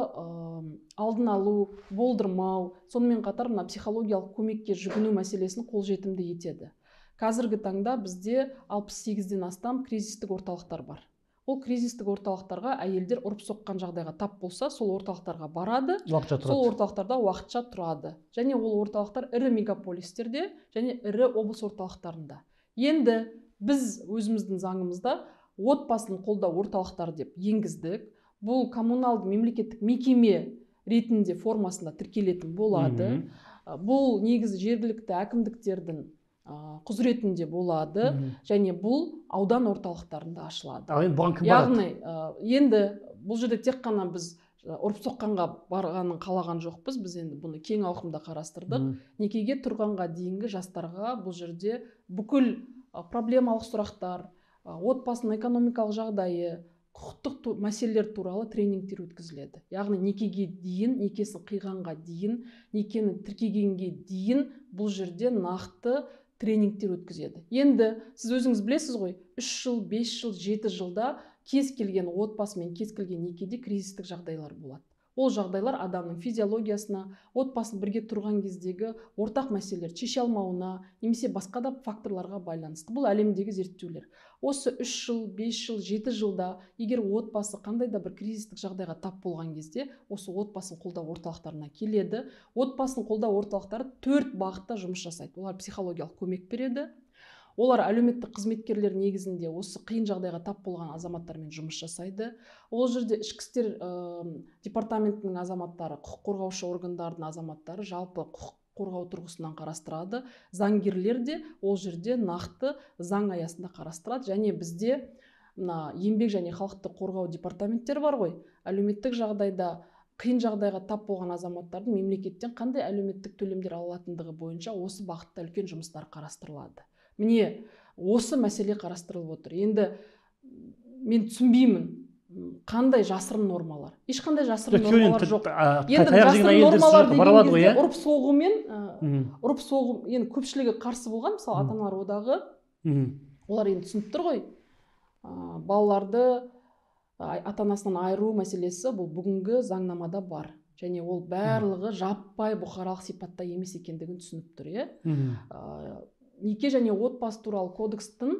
Speaker 2: алдын алу, болдырмау, сонымен қатар мына психологиялық көмекке жүгіну мәселесін қолжетімді етеді. Қазіргі таңда бізде алпыс сегізден астам кризистік орталықтар бар. Ол кризистік орталықтарға әйелдер ұрып соққан жағдайға тап болса, сол орталықтарға барады, сол орталықтарда уақытша тұрады. Және ол орталықтар ірі мегаполистерде және ірі облыс орталықтарында. Енді біз өзіміздің заңымызда отбасын қолдау орталықтары деп енгіздік. Бұл коммуналды мемлекеттік мекеме ретінде формасында тіркелетін болады. Бұл негізі жергілікті әкімдіктердің құзыретінде болады, және бұл аудан орталықтарында ашылады. Яғни енді бұл жерде тек қана біз ұрып соққанға барғанын қалаған жоқпыз, біз енді бұны кең ауқымда қарастырдық. Некеге тұрғанға дейінгі жастарға бұл жерде бүкіл проблемалық сұрақтар, отбасының экономикалық жағдайы, құқықтық мәселелер туралы тренингтер өткізіледі. Яғни некеге дейін, некесін қиғанға дейін, некені тіркегенге дейін бұл жерде нақты тренингтер өткізеді. Енді сіз өзіңіз білесіз ғой, үш жыл, бес жыл, жеті жылда кез келген отбасы мен кез келген некеде кризистік жағдайлар болады. Ол жағдайлар адамның физиологиясына, отбасын бірге тұрған кездегі ортақ мәселелер шеше алмауына, немесе басқа да факторларға байланысты. Бұл әлемдегі зерттеулер. Осы үш жыл, бес жыл, жеті жылда егер отбасы қандай да бір кризистік жағдайға тап болған кезде, осы отбасын қолдау орталықтарына келеді. Отбасын қолдау орталықтары төрт бағытта жұмыс жасайды. Олар психологиялық көмек береді. Олар әлеуметтік қызметкерлер негізінде осы қиын жағдайға тап болған азаматтармен жұмыс жасайды. Ол жерде ішкі істер департаментінің азаматтары, құқық қорғаушы органдардың азаматтары жалпы құқық қорғау тұрғысынан қарастырады. Заңгерлер де ол жерде нақты заң аясында қарастырады. Және бізде мына еңбек және халықты қорғау департаменттері бар ғой. Әлеуметтік жағдайда қиын жағдайға тап болған азаматтардың мемлекеттен қандай әлеуметтік төлемдер алатындығы бойынша осы бағытта үлкен жұмыстар қарастырылады. Міне, осы мәселе қарастырылып отыр. Енді мен түсінбеймін, қандай жасырын нормалар. Ешқандай жасырын нормалар жоқ. Енді жасырын нормалар деген кезде ұрып соғумен, ұрып соғу, енді көпшілігі қарсы болған, мысалы ата-аналар одағы, олар енді түсініп тұр ғой. Балаларды ата-анасынан айыру мәселесі бұл бүгінгі заңнамада бар. және ол барлығы жаппай бұқаралық сипатта емес екендігін түсініп тұр, иә. Неке және отбасы туралы кодекстің,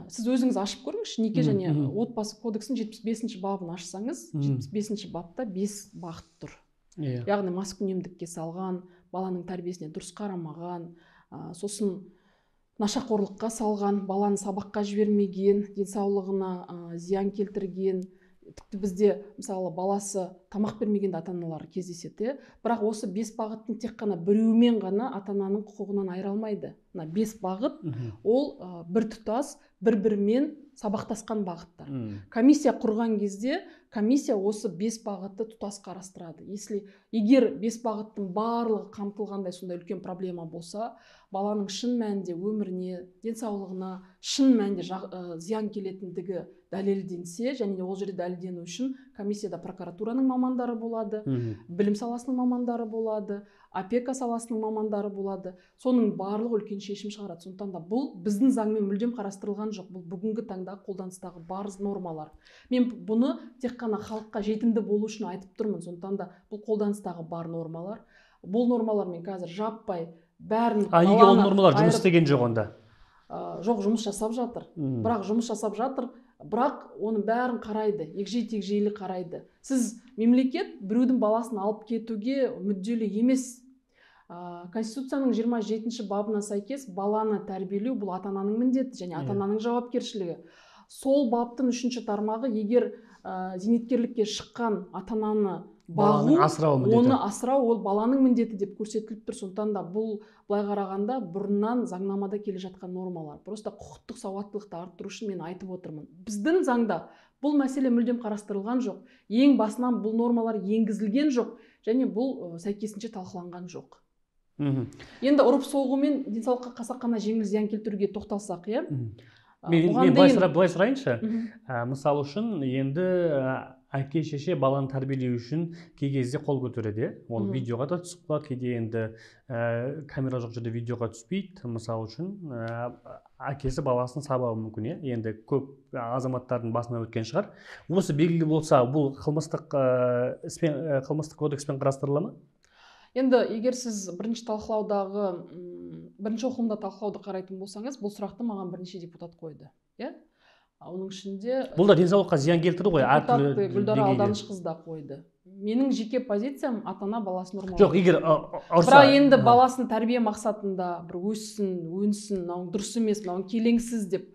Speaker 2: сіз өзіңіз ашып көріңізші, неке және отбасы кодекстің жетпіс бесінші бабын ашсаңыз, жетпіс бесінші бапта бес бағыт тұр. Яғни маскүнемдікке салған, баланың тәрбиесіне дұрыс қарамаған, сосын нашақорлыққа салған, баланы сабаққа жібермеген, денсаулығына зиян келтірген, тіпті бізде мысалы баласы тамақ бермеген ата-аналар кездеседі. Бірақ осы бес бағыттың тек қана біреуімен ғана ата-ананың құқығынан айыра алмайды. Мына бес бағыт ол бір тұтас, бір-бірімен сабақтасқан бағыттар. Комиссия құрған кезде комиссия осы бес бағытты тұтас қарастырады. Если егер бес бағыттың барлығы қамтылғандай сондай үлкен проблема болса, баланың шын мәнінде өміріне, денсаулығына шын мәнінде зиян келетіндігі дәлелденсе, және ол жерде дәлелдену үшін комиссияда прокуратураның мамандары болады, білім саласының мамандары болады, опека саласының мамандары болады. Соның барлығы үлкен шешім шығарады. Сондықтан да бұл біздің заңмен мүлдем қарастырылған жоқ. Бұл бүгінгі таңда қолданыстағы бар нормалар. Мен бұны тек қана халыққа жетімді болу үшін айтып тұрмын. Сондықтан да бұл қолданыстағы бар нормалар. Бұл нормалармен қазір жаппай бәрін
Speaker 1: А неге ол нормалар жұмыс істеген жоқ онда?
Speaker 2: Жоқ, жұмыс жасап жатыр. Бірақ жұмыс жасап жатыр, бірақ оның бәрін қарайды, егжей-тегжейлі қарайды. Сіз мемлекет біреудің баласын алып кетуге мүдделі емес. Конституцияның жиырма жетінші бабына сәйкес баланы тәрбиелеу бұл ата-ананың міндеті және ата-ананың жауапкершілігі. Сол баптың үшінші тармағы, егер зейнеткерлікке шыққан ата-ананы бағу, оны асырау ол баланың міндеті деп көрсетіліп тұр. Сондықтан да бұл былай қарағанда бұрыннан заңнамада келе жатқан нормалар. Просто құқықтық сауаттылықты арттыру үшін мен айтып отырмын. Біздің заңда бұл мәселе мүлдем қарастырылған жоқ. Ең басынан бұл нормалар енгізілген жоқ және бұл сәйкесінше талқыланған жоқ. Енді ұрып соғу мен денсаулыққа қасақана жеңіл зиян келтіруге тоқталсақ, иә?
Speaker 1: Мен былай сұрайыншы. Мысалы үшін енді әке шеше баланы тәрбиелеу үшін кей кезде қол көтереді. Ол видеоға да түсіп қалады, кейде енді камера жоқ жерде видеоға түспейді. Мысалы үшін әкесі баласын сабауы мүмкін, енді көп азаматтардың басына өткен шығар. Осы белгілі болса, бұл қылмыстық қылмыстық кодекспен қарастырыла ма?
Speaker 2: Енді егер сіз бірінші талқылаудағы, бірінші оқылымда талқылауды қарайтын болсаңыз, бұл сұрақты маған бірнеше депутат қойды. Оның ішінде
Speaker 1: бұл да денсаулыққа зиян келтірді ғой,
Speaker 2: әртүрлі Гүлдара Алданышқызы да қойды. Менің жеке позициям ата-ана баласын ұрмау.
Speaker 1: Жоқ, егер ұрса.
Speaker 2: Бірақ енді баласын тәрбие мақсатында бір өссін, өнсін, дұрыс емес, келеңсіз деп,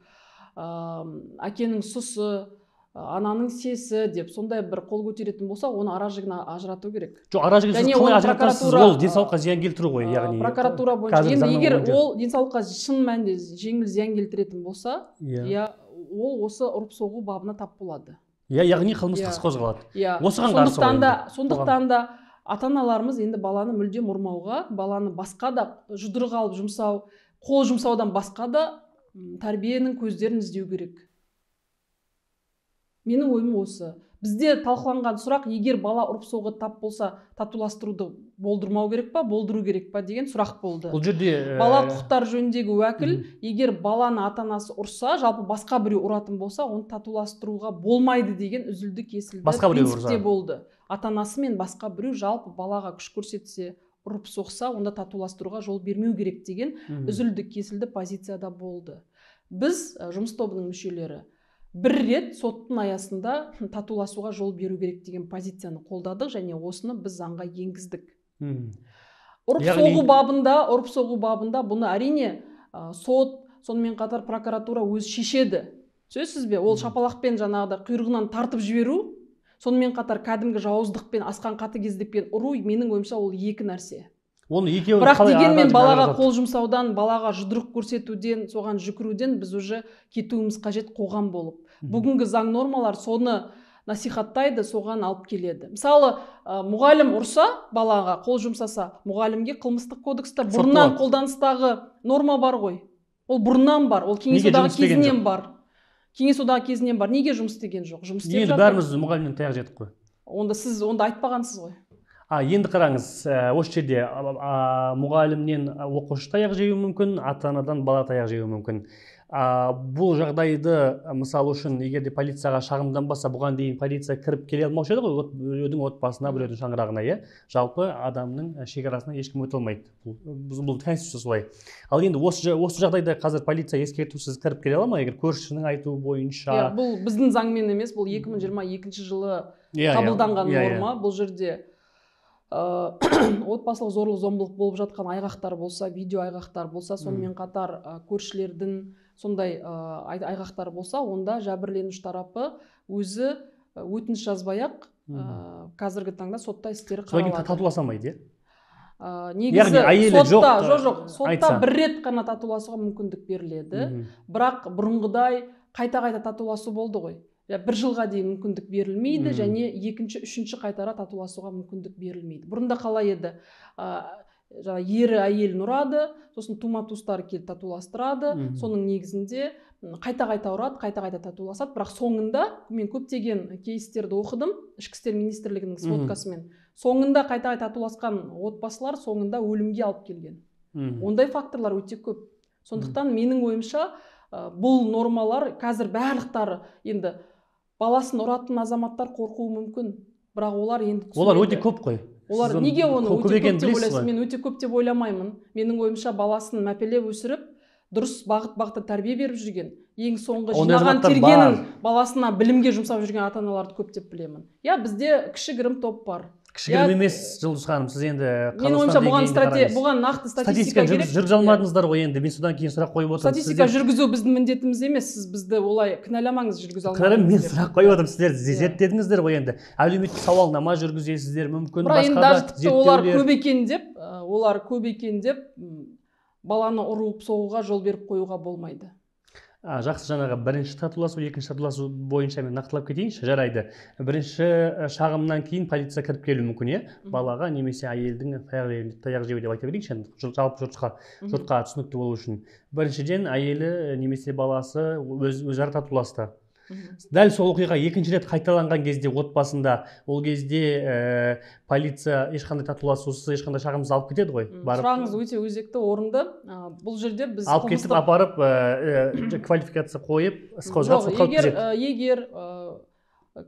Speaker 2: әкенің сұсы, ананың сесі деп сондай бір қол көтеретін болса, оны ара-жігін ажырату керек.
Speaker 1: Жоқ, ара-жігін қалай ажыратасыз, ол денсаулыққа зиян келтіру ғой, яғни.
Speaker 2: Прокуратура бойынша. Енді егер ол денсаулыққа шын мәнінде жеңіл зиян келтіретін болса, ол осы ұрып соғу бабына тап болады.
Speaker 1: Яғни қылмыстық іс қозғалады. Осыған қарсы
Speaker 2: ғой. Сондықтан да ата-аналарымыз енді баланы мүлдем ұрмауға, баланы басқа да жұдырық алып жұмсау, қол жұмсаудан басқа да тәрбиенің көздерін іздеу керек. Менің ойым осы. Бізде талқыланған сұрақ, егер бала ұрып соғуға тап болса, татуластыруды болдырмау керек па, болдыру керек па деген сұрақ болды.
Speaker 1: Бұл жерде
Speaker 2: бала құқықтары жөніндегі уәкіл, егер баланы ата-анасы ұрса, жалпы басқа біреу ұратын болса, оны татуластыруға болмайды деген үзілді кесілді принципте болды. Ата-анасы мен басқа біреу жалпы балаға күш көрсетсе, ұрып соқса, онда татуластыруға жол бермеу керек деген үзілді кесілді позицияда болды. Біз жұмыс тобының мүшелері бір рет соттың аясында татуласуға жол беру керек деген позицияны қолдадық және осыны біз заңға енгіздік. Ұрып соғу бабында, ұрып соғу бабында бұны әрине сот, сонымен қатар прокуратура өзі шешеді. Сөзсіз бе? Ол шапалақпен жаңағыда құйрығынан тартып жіберу, сонымен қатар кәдімгі жауыздықпен, асқан қатыгездікпен ұру, менің ойымша ол екі нәрсе. Бірақ дегенмен балаға қол жұмсаудан, балаға жұдырық көрсетуден, соған жүкіруден біз уже кетуіміз қажет қоғам болып. Бүгінгі заң нормалар соны насихаттайды, соған алып келеді. Мысалы, мұғалім ұрса, балаға қол жұмсаса, мұғалімге қылмыстық кодексте бұрыннан қолданыстағы норма бар ғой. Ол бұрыннан бар, ол кеңес одағы кезінен бар. Кеңес одағы кезінен бар. Неге жұмыс істеген жоқ? Жұмыс істеп жатыр.
Speaker 1: Енді бәріміз мұғалімнен таяқ жедік қой.
Speaker 2: Онда сіз онда айтпағансыз ғой.
Speaker 1: Енді қараңыз, осы жерде мұғалімнен оқушы таяқ жеуі мүмкін, ата-анадан бала таяқ жеуі мүмкін. А, бұл жағдайды мысалы үшін егер де полицияға шағымданбаса, бұған дейін полиция кіріп келе алмаушы еді ғой, біреудің отбасына, біреудің шаңырағына, иә. Жалпы адамның шекарасына ешкім өте алмайды. Бұл, бұл конституция солай. Ал енді осы, осы жағдайда қазір полиция ескертусіз кіріп келе ала ма, егер көршісінің айтуы бойынша?
Speaker 2: Иә, бұл біздің заңмен емес, бұл екі мың жиырма екінші жылы қабылданған норма. Бұл жерде отбасылық зорлық зомбылық болып жатқан айғақтар болса, видео айғақтар болса, сонымен қатар көршілердің сондай айғақтар болса, онда жәбірленуші тарапы өзі өтініш жазбай-ақ қазіргі таңда сотта істері қаралады.
Speaker 1: Содан кейін татуласа алмайды,
Speaker 2: иә? Негізі сотта, жоқ, жоқ, сотта бір рет қана татуласуға мүмкіндік беріледі. Бірақ бұрынғыдай қайта-қайта татуласу болды ғой. Бір жылға дейін мүмкіндік берілмейді, және екінші, үшінші қайтара татуласуға мүмкіндік берілмейді. Бұрында қалай еді? Ері әйелін ұрады, сосын тума-туыстары келіп татуластырады, соның негізінде қайта-қайта ұрады, қайта-қайта татуласады. Бірақ соңында, мен көптеген кейстерді оқыдым, ішкі істер министрлігінің сводкасымен, соңында қайта-қайта татуласқан отбасылар соңында өлімге алып келген. Ондай факторлар өте көп. Сондықтан менің ойымша, бұл нормалар қазір барлықтары, енді баласын ұратын азаматтар қорқуы мүмкін, бірақ олар енді
Speaker 1: олар өте көп қой.
Speaker 2: Олар неге оны өте көп деп ойлайсыз? Мен өте көп деп ойламаймын. Менің ойымша баласын мәпелеп өсіріп, дұрыс бағыт-бағытта тәрбие беріп жүрген, ең соңғы жинаған тергенін баласына білімге жұмсап жүрген ата-аналарды көп деп білемін. Я, бізде кішігірім топ бар.
Speaker 1: Кішігірім емес, Жұлдыз ханым, сіз енді
Speaker 2: мен ойымша бұған нақты статистика керек.
Speaker 1: Жүргізе алмадыңыздар ғой енді, мен содан кейін сұрақ қойып отырмын.
Speaker 2: Статистика жүргізу біздің міндетіміз емес, сіз бізді олай кінәламаңыз, жүргізе алмадыңыз.
Speaker 1: Кінәлам, мен сұрақ қойып отырмын, сіздер зерттедіңіздер ғой енді. Әлеуметтік сауалнама жүргізесіздер, мүмкін басқа да зерттеулер.
Speaker 2: Олар көп екен деп, олар көп екен деп баланы ұрып соғуға жол беріп қоюға болмайды.
Speaker 1: Жақсы, жаңағы бірінші татуласу, екінші татуласу бойынша мен нақтылап кетейінші, жарайды. Бірінші шағымнан кейін полиция кіріп келуі мүмкін, е? Балаға немесе әйелдің таяқ жеуі деп айта берейінші, жалпы жұртқа, жұртқа түсінікті болу үшін. Біріншіден әйелі немесе баласы өзара татуласты. Дәл сол оқиға екінші рет қайталанған кезде отбасында, ол кезде полиция ешқандай татуласусыз, ешқандай шағымсыз алып кетеді ғой.
Speaker 2: Сұрағыңыз өте өзекті, орынды. Бұл жерде біз
Speaker 1: алып кетіп апарып квалификация қойып, іс қозғап сотқа өткізеді.
Speaker 2: Егер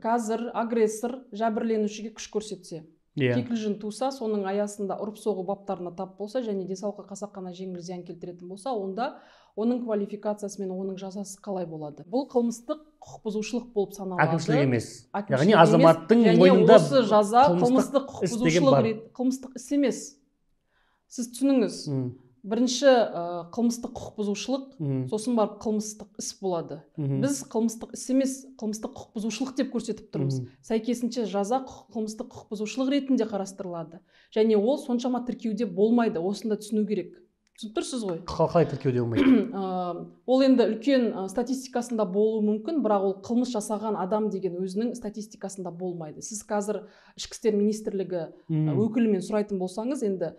Speaker 2: қазір агрессор жәбірленушіге күш көрсетсе, кикілжің туса, соның аясында ұрып соғу баптарына тап болса және денсаулыққа қасақана жеңіл зиян келтіретін болса, онда оның квалификациясы мен оның жазасы қалай болады? Бұл қылмыстық құқық бұзушылық болып саналады.
Speaker 1: Әкімшілік емес. Яғни азаматтың мойнында
Speaker 2: осы жаза қылмыстық құқық бұзушылық, қылмыстық іс емес. Сіз түсініңіз. Бірінші қылмыстық құқық бұзушылық, сосын барып қылмыстық іс болады. Біз қылмыстық іс емес, қылмыстық құқық бұзушылық деп көрсетіп тұрмыз. Сәйкесінше жаза қылмыстық құқық бұзушылық ретінде қарастырылады. Және ол соншама тіркеуде болмайды, осында түсіну керек. Түсініп тұрсыз ғой?
Speaker 1: Қалай тіркеуде болмайды?
Speaker 2: Ол енді үлкен статистикасында болуы мүмкін, бірақ ол қылмыс жасаған адам деген өзінің статистикасында болмайды. Сіз қазір ішкі істер министрлігі өкілімен сұрайтын болсаңыз, енді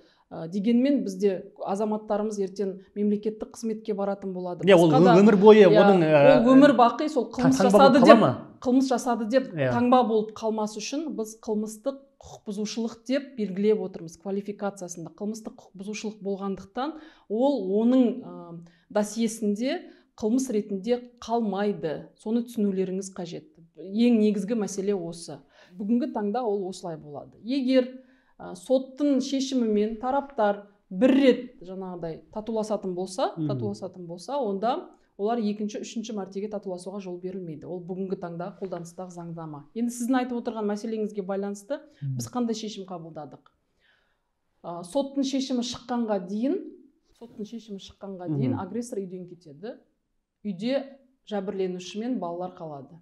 Speaker 2: дегенмен бізде азаматтарымыз ертең мемлекеттік қызметке баратын болады.
Speaker 1: Иә, ол өмір бойы оның
Speaker 2: ол өмір бақи сол қылмыс жасады деп қылмыс жасады деп таңба болып қалмас үшін біз қылмыстық құқық бұзушылық деп белгілеп отырмыз квалификациясында. Қылмыстық құқық бұзушылық болғандықтан ол оның досьесінде қылмыс ретінде қалмайды. Соны түсінулеріңіз қажет. Ең негізгі мәселе осы. Бүгінгі таңда ол осылай болады. Егер соттың шешімімен тараптар бір рет жаңағыдай татуласатын болса, татуласатын болса, онда олар екінші, үшінші мәртеге татуласуға жол берілмейді. Ол бүгінгі таңда қолданыстағы заңнама. Енді сіздің айтып отырған мәселеңізге байланысты біз қандай шешім қабылдадық? Соттың шешімі шыққанға дейін, соттың шешімі шыққанға дейін агрессор үйден кетеді. Үйде жәбірленуші мен балалар қалады.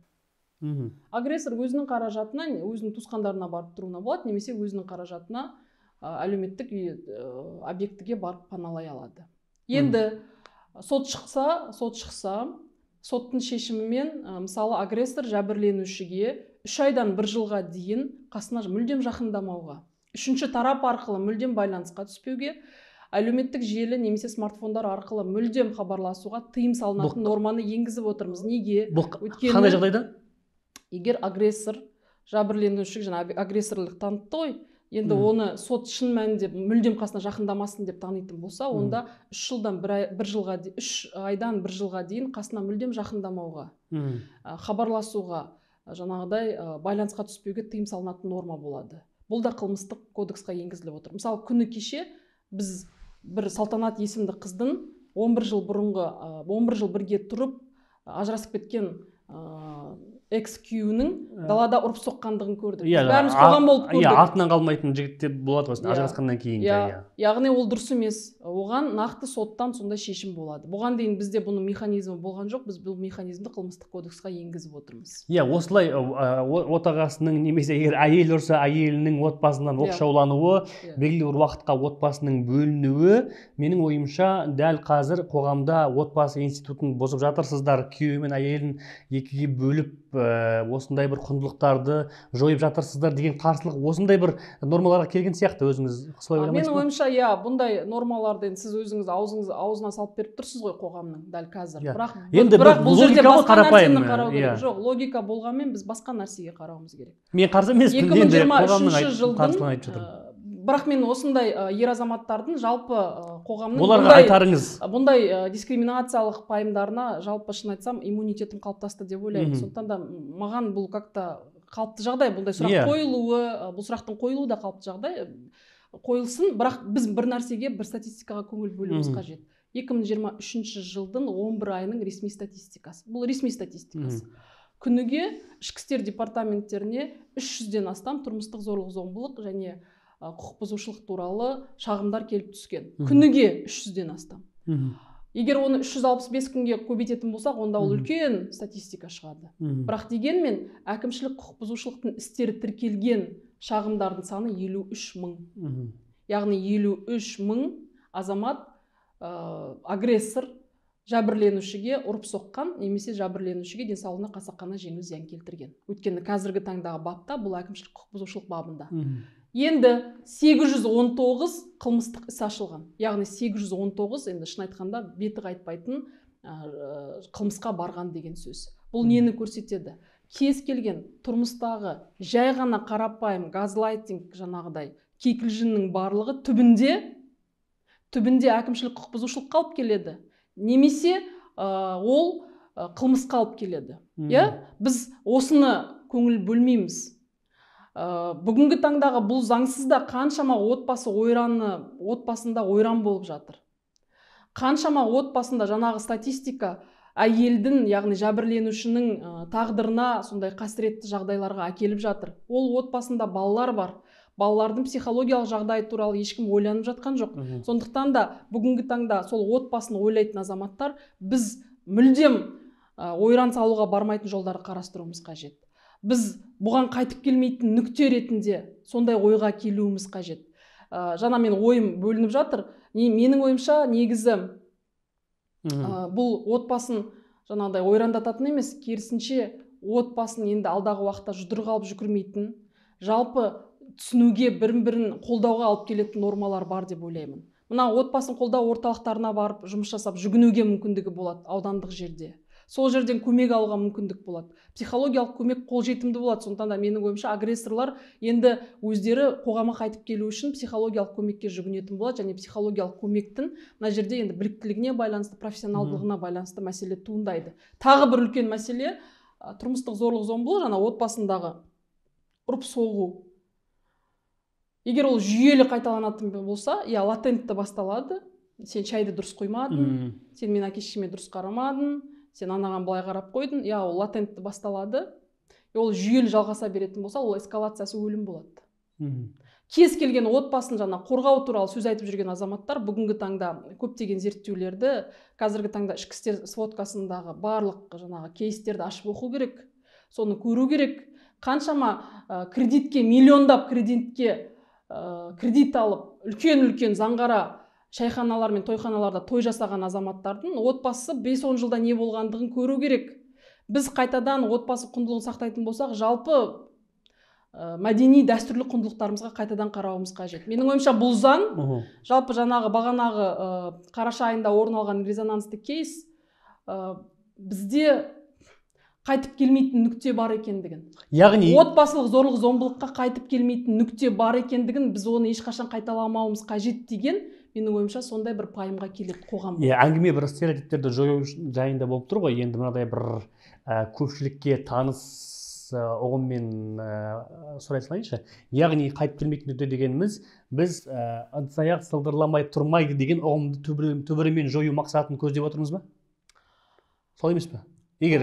Speaker 2: Агрессор өзінің қаражатына, өзінің туысқандарына барып тұруына болады, немесе өзінің қаражатына әлеуметтік объектіге барып паналай алады. Енді сот шықса, сот шықса, соттың шешімімен, мысалы, агрессор жәбірленушіге үш айдан бір жылға дейін қасына мүлдем жақындамауға, үшінші тарап арқылы мүлдем байланысқа түспеуге, әлеуметтік желі немесе смартфондар арқылы мүлдем хабарласуға тыйым салынатын норманы енгізіп отырмыз. Неге?
Speaker 1: Бұл қандай жағдайда?
Speaker 2: Егер агрессор жәбірленуші жаңа агрессорлық танытты ғой, енді оны сот шын мәнінде мүлдем қасына жақындамасын деп танитын болса, онда үш жылдан бір жылға үш айдан бір жылға дейін қасына мүлдем жақындамауға, хабарласуға, жаңағыдай байланысқа түспеуге тыйым салынатын норма болады. Бұл да қылмыстық кодексқа енгізіліп отыр. Мысалы, күні кеше біз бір Салтанат есімді қыздың он бір жыл бұрынғы он бір жыл бірге тұрып ажырасып кеткен экс-күйеуінің далада ұрып соққандығын көрдік. Бәріміз қоғам болып көрдік.
Speaker 1: Иә, артынан қалмайтын жігіттер болады ғой, ажырасқаннан кейін.
Speaker 2: Яғни ол дұрыс емес. Оған нақты соттан сондай шешім болады. Бұған дейін бізде бұның механизмі болған жоқ, біз бұл механизмді қылмыстық кодексқа енгізіп отырмыз.
Speaker 1: Иә, осылай отағасының немесе егер әйел ұрса, әйелінің отбасынан оқшаулануы, белгілі бір уақытқа отбасының бөлінуі, менің ойымша дәл қазір қоғамда отбасы институтын бұзып жатырсыздар, күйеуі мен әйелін екіге бөліп осындай бір құндылықтарды жойып жатырсыздар деген қарсылық осындай бір нормаларға келген сияқты. Өзіңіз солай ойламайсыз ба?
Speaker 2: Менің ойымша, иә, бұндай нормаларды сіз өзіңіз аузыңыз аузына салып беріп тұрсыз ғой қоғамның дәл қазір. Бірақ
Speaker 1: енді
Speaker 2: бұл жерде басқа нәрсені
Speaker 1: қарапайым.
Speaker 2: қарау керек. Жоқ, логика болғанмен біз басқа нәрсеге қарауымыз керек.
Speaker 1: Мен қарсы емеспін.
Speaker 2: екі мың жиырма үшінші жылдың бірақ мен осындай ер азаматтардың жалпы қоғамның
Speaker 1: оларға айтарыңыз
Speaker 2: бұндай дискриминациялық пайымдарына жалпы шын айтсам иммунитетім қалыптасты деп ойлаймын. Сондықтан да маған бұл как-то қалыпты жағдай, бұндай сұрақ қойылуы, бұл сұрақтың қойылуы да қалыпты жағдай қойылсын, бірақ біз бір нәрсеге, бір статистикаға көңіл бөлуіміз қажет. екі мың жиырма үшінші жылдың он бір айының ресми статистикасы. Бұл ресми статистикасы. Күніге ішкі істер департаменттеріне үш жүзден астам тұрмыстық зорлық-зомбылық және құқық бұзушылық туралы шағымдар келіп түскен. Күніге үш жүзден астам. Егер оны үш жүз алпыс бес күнге көбейтетін болсақ, онда ол үлкен статистика шығады. Бірақ дегенмен әкімшілік құқық бұзушылықтың істері тіркелген шағымдардың саны елу үш мың. Яғни елу үш мың азамат агрессор жәбірленушіге ұрып соққан, немесе жәбірленушіге денсаулығына қасақана жеңіл зиян келтірген. Өйткені қазіргі таңдағы бапта бұл әкімшілік құқық бұзушылық бабында. Енді сегіз жүз он тоғыз қылмыстық іс ашылған. Яғни сегіз жүз он тоғыз, енді шын айтқанда беті қайтпайтын қылмысқа барған деген сөз. Бұл нені көрсетеді? Кез келген тұрмыстағы жай ғана қарапайым газлайтинг жаңағыдай кикілжіңнің барлығы түбінде түбінде әкімшілік құқық бұзушылыққа алып келеді. Немесе ол қылмысқа алып келеді. Біз осыны көңіл бөлмейміз. Бүгінгі таңдағы бұл заңсызда қаншама отбасы ойраны, отбасында ойран болып жатыр. Қаншама отбасында жаңағы статистика әйелдің, яғни жәбірленушінің тағдырына сондай қасіретті жағдайларға әкеліп жатыр. Ол отбасында балалар бар. Балалардың психологиялық жағдайы туралы ешкім ойланып жатқан жоқ. Сондықтан да бүгінгі таңда сол отбасын ойлайтын азаматтар біз мүлдем ойран салуға бармайтын жолдарды қарастыруымыз қажет. Біз бұған қайтып келмейтін нүкте ретінде сондай ойға келуіміз қажет. Жаңа мен ойым бөлініп жатыр. Менің ойымша негізі бұл отбасын жаңағыдай ойрандататын емес, керісінше отбасын енді алдағы уақытта жұдырығы алып жүгірмейтін, жалпы түсінуге бірін-бірін қолдауға алып келетін нормалар бар деп ойлаймын. Мына отбасын қолдау орталықтарына барып жұмыс жасап жүгінуге мүмкіндігі болады аудандық жерде. Сол жерден көмек алуға мүмкіндік болады. Психологиялық көмек қолжетімді болады. Сондықтан да менің ойымша агрессорлар енді өздері қоғамға қайтып келу үшін психологиялық көмекке жүгінетін болады, және психологиялық көмектің мына жерде енді біліктілігіне байланысты, профессионалдығына байланысты мәселе туындайды. Тағы бір үлкен мәселе тұрмыстық зорлық-зомбылық, жаңа отбасындағы ұрып соғу. Егер ол жүйелі қайталанатын болса, я латентті басталады. Сен шайды дұрыс қоймадың, сен мен әке-шешеме дұрыс қарамадың, сен анаған былай қарап қойдың, я ол латентті басталады. Ол жүйелі жалғаса беретін болса, ол эскалациясы өлім болады. Кез келген отбасын жаңа қорғау туралы сөз айтып жүрген азаматтар бүгінгі таңда көптеген зерттеулерді, қазіргі таңда ішкі істер сводкасындағы барлық жаңағы кейстерді ашып оқу керек, соны көру керек. Қаншама кредитке, миллиондап кредитке кредит алып, үлкен-үлкен заңғара шайханалар мен тойханаларда той жасаған азаматтардың отбасы бес он жылда не болғандығын көру керек. Біз қайтадан отбасы құндылығын сақтайтын болсақ, жалпы мәдени дәстүрлі құндылықтарымызға қайтадан қарауымыз қажет. Менің ойымша бұл заң, жалпы жаңағы бағанағы қараша айында орын алған резонансты кейс, бізде қайтып келмейтін нүкте бар екендігін.
Speaker 1: Яғни
Speaker 2: отбасылық зорлық зомбылыққа қайтып келмейтін нүкте бар екендігін, біз оны ешқашан қайталамауымыз қажет деген, менің ойымша сондай бір пайымға келеді қоғам.
Speaker 1: Иә, әңгіме бір стереотиптерді жою жайында болып тұр ғой. Енді мынадай бір ә, көпшілікке таныс ә, ұғыммен ә, сұрай салайыншы. Яғни қайтып келмейтін нүкте дегеніміз, біз ә, ыдыс-аяқ сылдырламай тұрмайды деген ұғымды түбірімен жою мақсатын көздеп отырмыз ба? Солай емес пе? Егер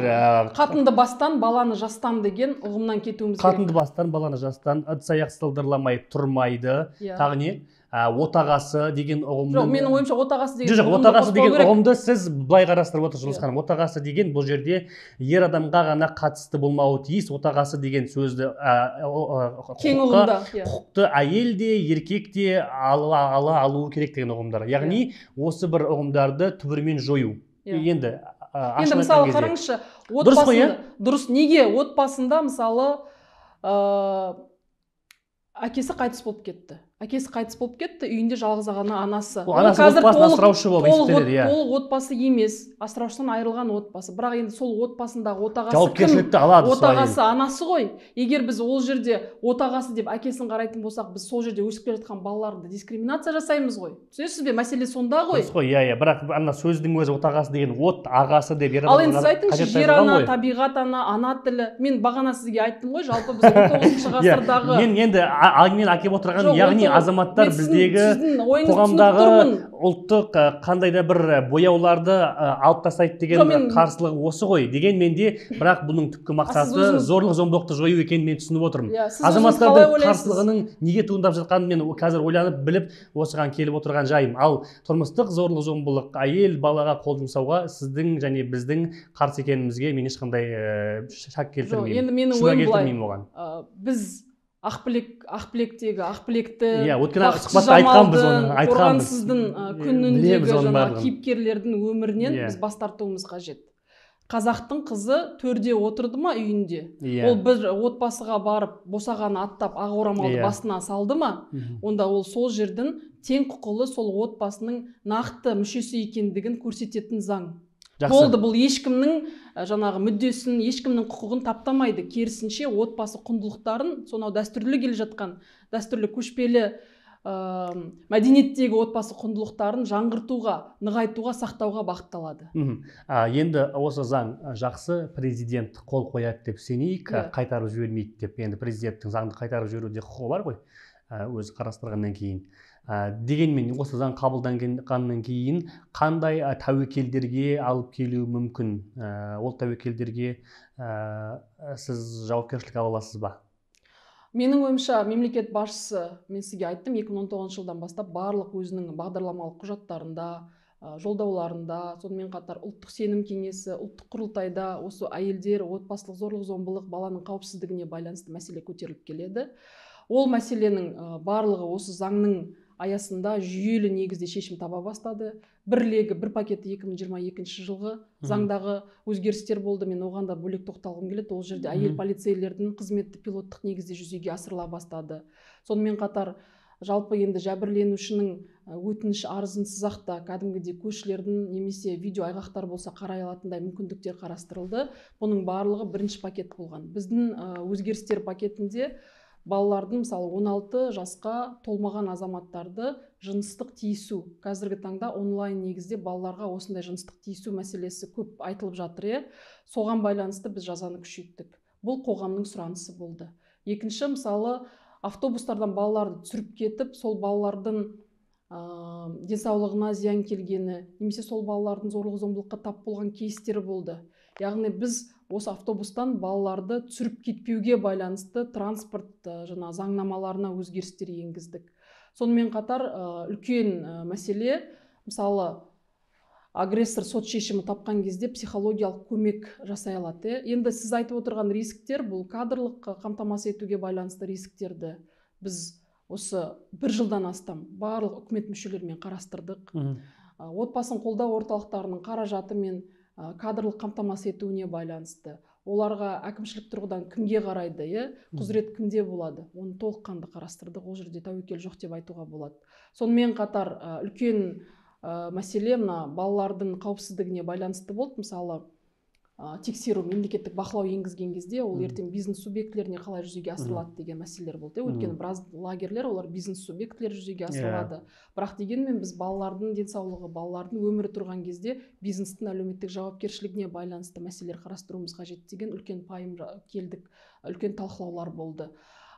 Speaker 2: қатынды бастан баланы жастан деген ұғымнан кетуіміз керек.
Speaker 1: Қатынды бастан баланы жастан, ыдыс-аяқ сылдырламай тұрмайды. Тағы не? Отағасы деген ұғымды.
Speaker 2: Жоқ, менің ойымша отағасы деген
Speaker 1: жоқ, отағасы деген ұғымды сіз былай қарастырып отырсыз ханым. Отағасы деген бұл жерде ер адамға ғана қатысты болмауы тиіс. Отағасы деген сөзді
Speaker 2: кең ұғымда,
Speaker 1: құқықты әйел де, еркек те ала алуы керек деген ұғымдар. Яғни осы бір ұғымдарды түбірімен жою. Енді
Speaker 2: Енді мысалы қараңызшы, отбасында дұрыс, неге отбасында мысалы әкесі қайтыс болып кетті. Әкесі қайтыс болып кетті, үйінде жалғыз ғана анасы.
Speaker 1: Анасы отбасын асыраушы болып есептеледі, иә.
Speaker 2: Толық отбасы емес, асыраушыдан айырылған отбасы. Бірақ енді сол отбасындағы отағасы
Speaker 1: жауапкершілікті алады.
Speaker 2: Отағасы анасы ғой. Егер біз ол жерде отағасы деп әкесін қарайтын болсақ, біз сол жерде өсіп келе жатқан балаларды дискриминация жасаймыз ғой. Түсінесіз бе? Мәселе сонда ғой.
Speaker 1: Дұрыс қой, иә, иә. Бірақ ана сөздің өзі отағасы деген от ағасы деп ер
Speaker 2: адамға. Ал енді сіз айтыңызшы, жер ана, табиғат ана, ана тілі. Мен бағана сізге айттым ғой, жалпы біз он тоғызыншы ғасырдағы.
Speaker 1: Мен енді мен әкеп отырған, яғни азаматтар біздегі қоғамдағы ұлттық қандай да бір бояуларды алып тастайды деген қарсылығы осы ғой. Дегенмен де, бірақ бұның түпкі мақсаты зорлық зомбылықты жою екенін мен түсініп отырмын. Азаматтардың қарсылығының неге туындап жатқанын мен қазір ойланып біліп осыған келіп отырған жайым. Ал тұрмыстық зорлық зомбылық, әйел балаға қол жұмсауға сіздің және біздің қарсы екенімізге мен ешқандай шак келтірмеймін.
Speaker 2: Енді менің ойым былай, біз Ақбілек, Ақбілектегі, Ақбілекті, қорғансыздың күніндегі жаңағы кейіпкерлердің өмірінен біз бас тартуымыз қажет. Қазақтың қызы төрде отырды ма үйінде? Ол бір отбасыға барып, босағаны аттап, ақ орамалды басына салды ма? Онда ол сол жердің тең құқылы сол отбасының нақты мүшесі екендігін көрсететін заң. Болды, бұл ешкімнің жаңағы мүддесін, ешкімнің құқығын таптамайды. Керісінше отбасы құндылықтарын, сонау дәстүрлі келе жатқан, дәстүрлі көшпелі мәдениеттегі отбасы құндылықтарын жаңғыртуға, нығайтуға, сақтауға бағытталады.
Speaker 1: Енді осы заң жақсы, президент қол қояды деп сенейік, қайтарып жібермейді деп. Енді президенттің заңды қайтарып жіберуде құқығы бар ғой, өзі қарастырғаннан кейін. Дегенмен осы заң қабылданғаннан кейін қандай тәуекелдерге алып келуі мүмкін? Ол тәуекелдерге сіз жауапкершілік ала аласыз ба?
Speaker 2: Менің ойымша мемлекет басшысы, мен сізге айттым, екі мың он тоғызыншы жылдан бастап барлық өзінің бағдарламалық құжаттарында, жолдауларында, сонымен қатар ұлттық сенім кеңесі, ұлттық құрылтайда осы әйелдер, отбасылық зорлық зомбылық, баланың қауіпсіздігіне байланысты мәселе көтеріліп келеді. Ол мәселенің барлығы осы заңның аясында жүйелі негізде шешім таба бастады. Бір легі, бір пакеті екі мың жиырма екінші жылғы заңдағы өзгерістер болды. Мен оған да бөлек тоқталғым келеді. Ол жерде әйел полицейлердің қызметі пилоттық негізде жүзеге асырыла бастады. Сонымен қатар жалпы енді жәбірленушінің өтініш арызынсыз ақта кәдімгідей көшілердің немесе видео айғақтар болса қарай алатындай мүмкіндіктер қарастырылды. Бұның барлығы бірінші пакет болған. Біздің өзгерістер пакетінде балалардың, мысалы, он алты жасқа толмаған азаматтарды жыныстық тиісу, қазіргі таңда онлайн негізде балаларға осындай жыныстық тиісу мәселесі көп айтылып жатыр. Соған байланысты біз жазаны күшейттік. Бұл қоғамның сұранысы болды. Екінші, мысалы, автобустардан балаларды түсіріп кетіп, сол балалардың денсаулығына зиян келгені, немесе сол балалардың зорлық зомбылыққа тап болған кейстері болды. Яғни біз осы автобустан балаларды түсіріп кетпеуге байланысты транспорт жаңа заңнамаларына өзгерістер енгіздік. Сонымен қатар үлкен мәселе, мысалы, агрессор сот шешімі тапқан кезде психологиялық көмек жасай алады. Енді сіз айтып отырған рисктер, бұл кадрлық қамтамасыз етуге байланысты рисктерді біз осы бір жылдан астам барлық үкімет мүшелерімен қарастырдық. Отбасын қолдау орталықтарының қаражаты мен кадрлық қамтамасыз етуіне байланысты. Оларға әкімшілік тұрғыдан кімге қарайды, құзырет кімде болады, оны толыққанды қарастырдық. Ол жерде тәуекел жоқ деп айтуға болады. Сонымен қатар үлкен мәселе мына балалардың қауіпсіздігіне байланысты болды. Мысалы, тексеру, мемлекеттік бақылау енгізген кезде ол ертең бизнес субъектілеріне қалай жүзеге асырылады деген мәселелер болды. Өйткені біраз лагерлер олар бизнес субъектілері жүзеге асырылады. Бірақ дегенмен біз балалардың денсаулығы, балалардың өмірі тұрған кезде бизнестің әлеуметтік жауапкершілігіне байланысты мәселелер қарастыруымыз қажет деген үлкен пайым келдік, үлкен талқылаулар болды.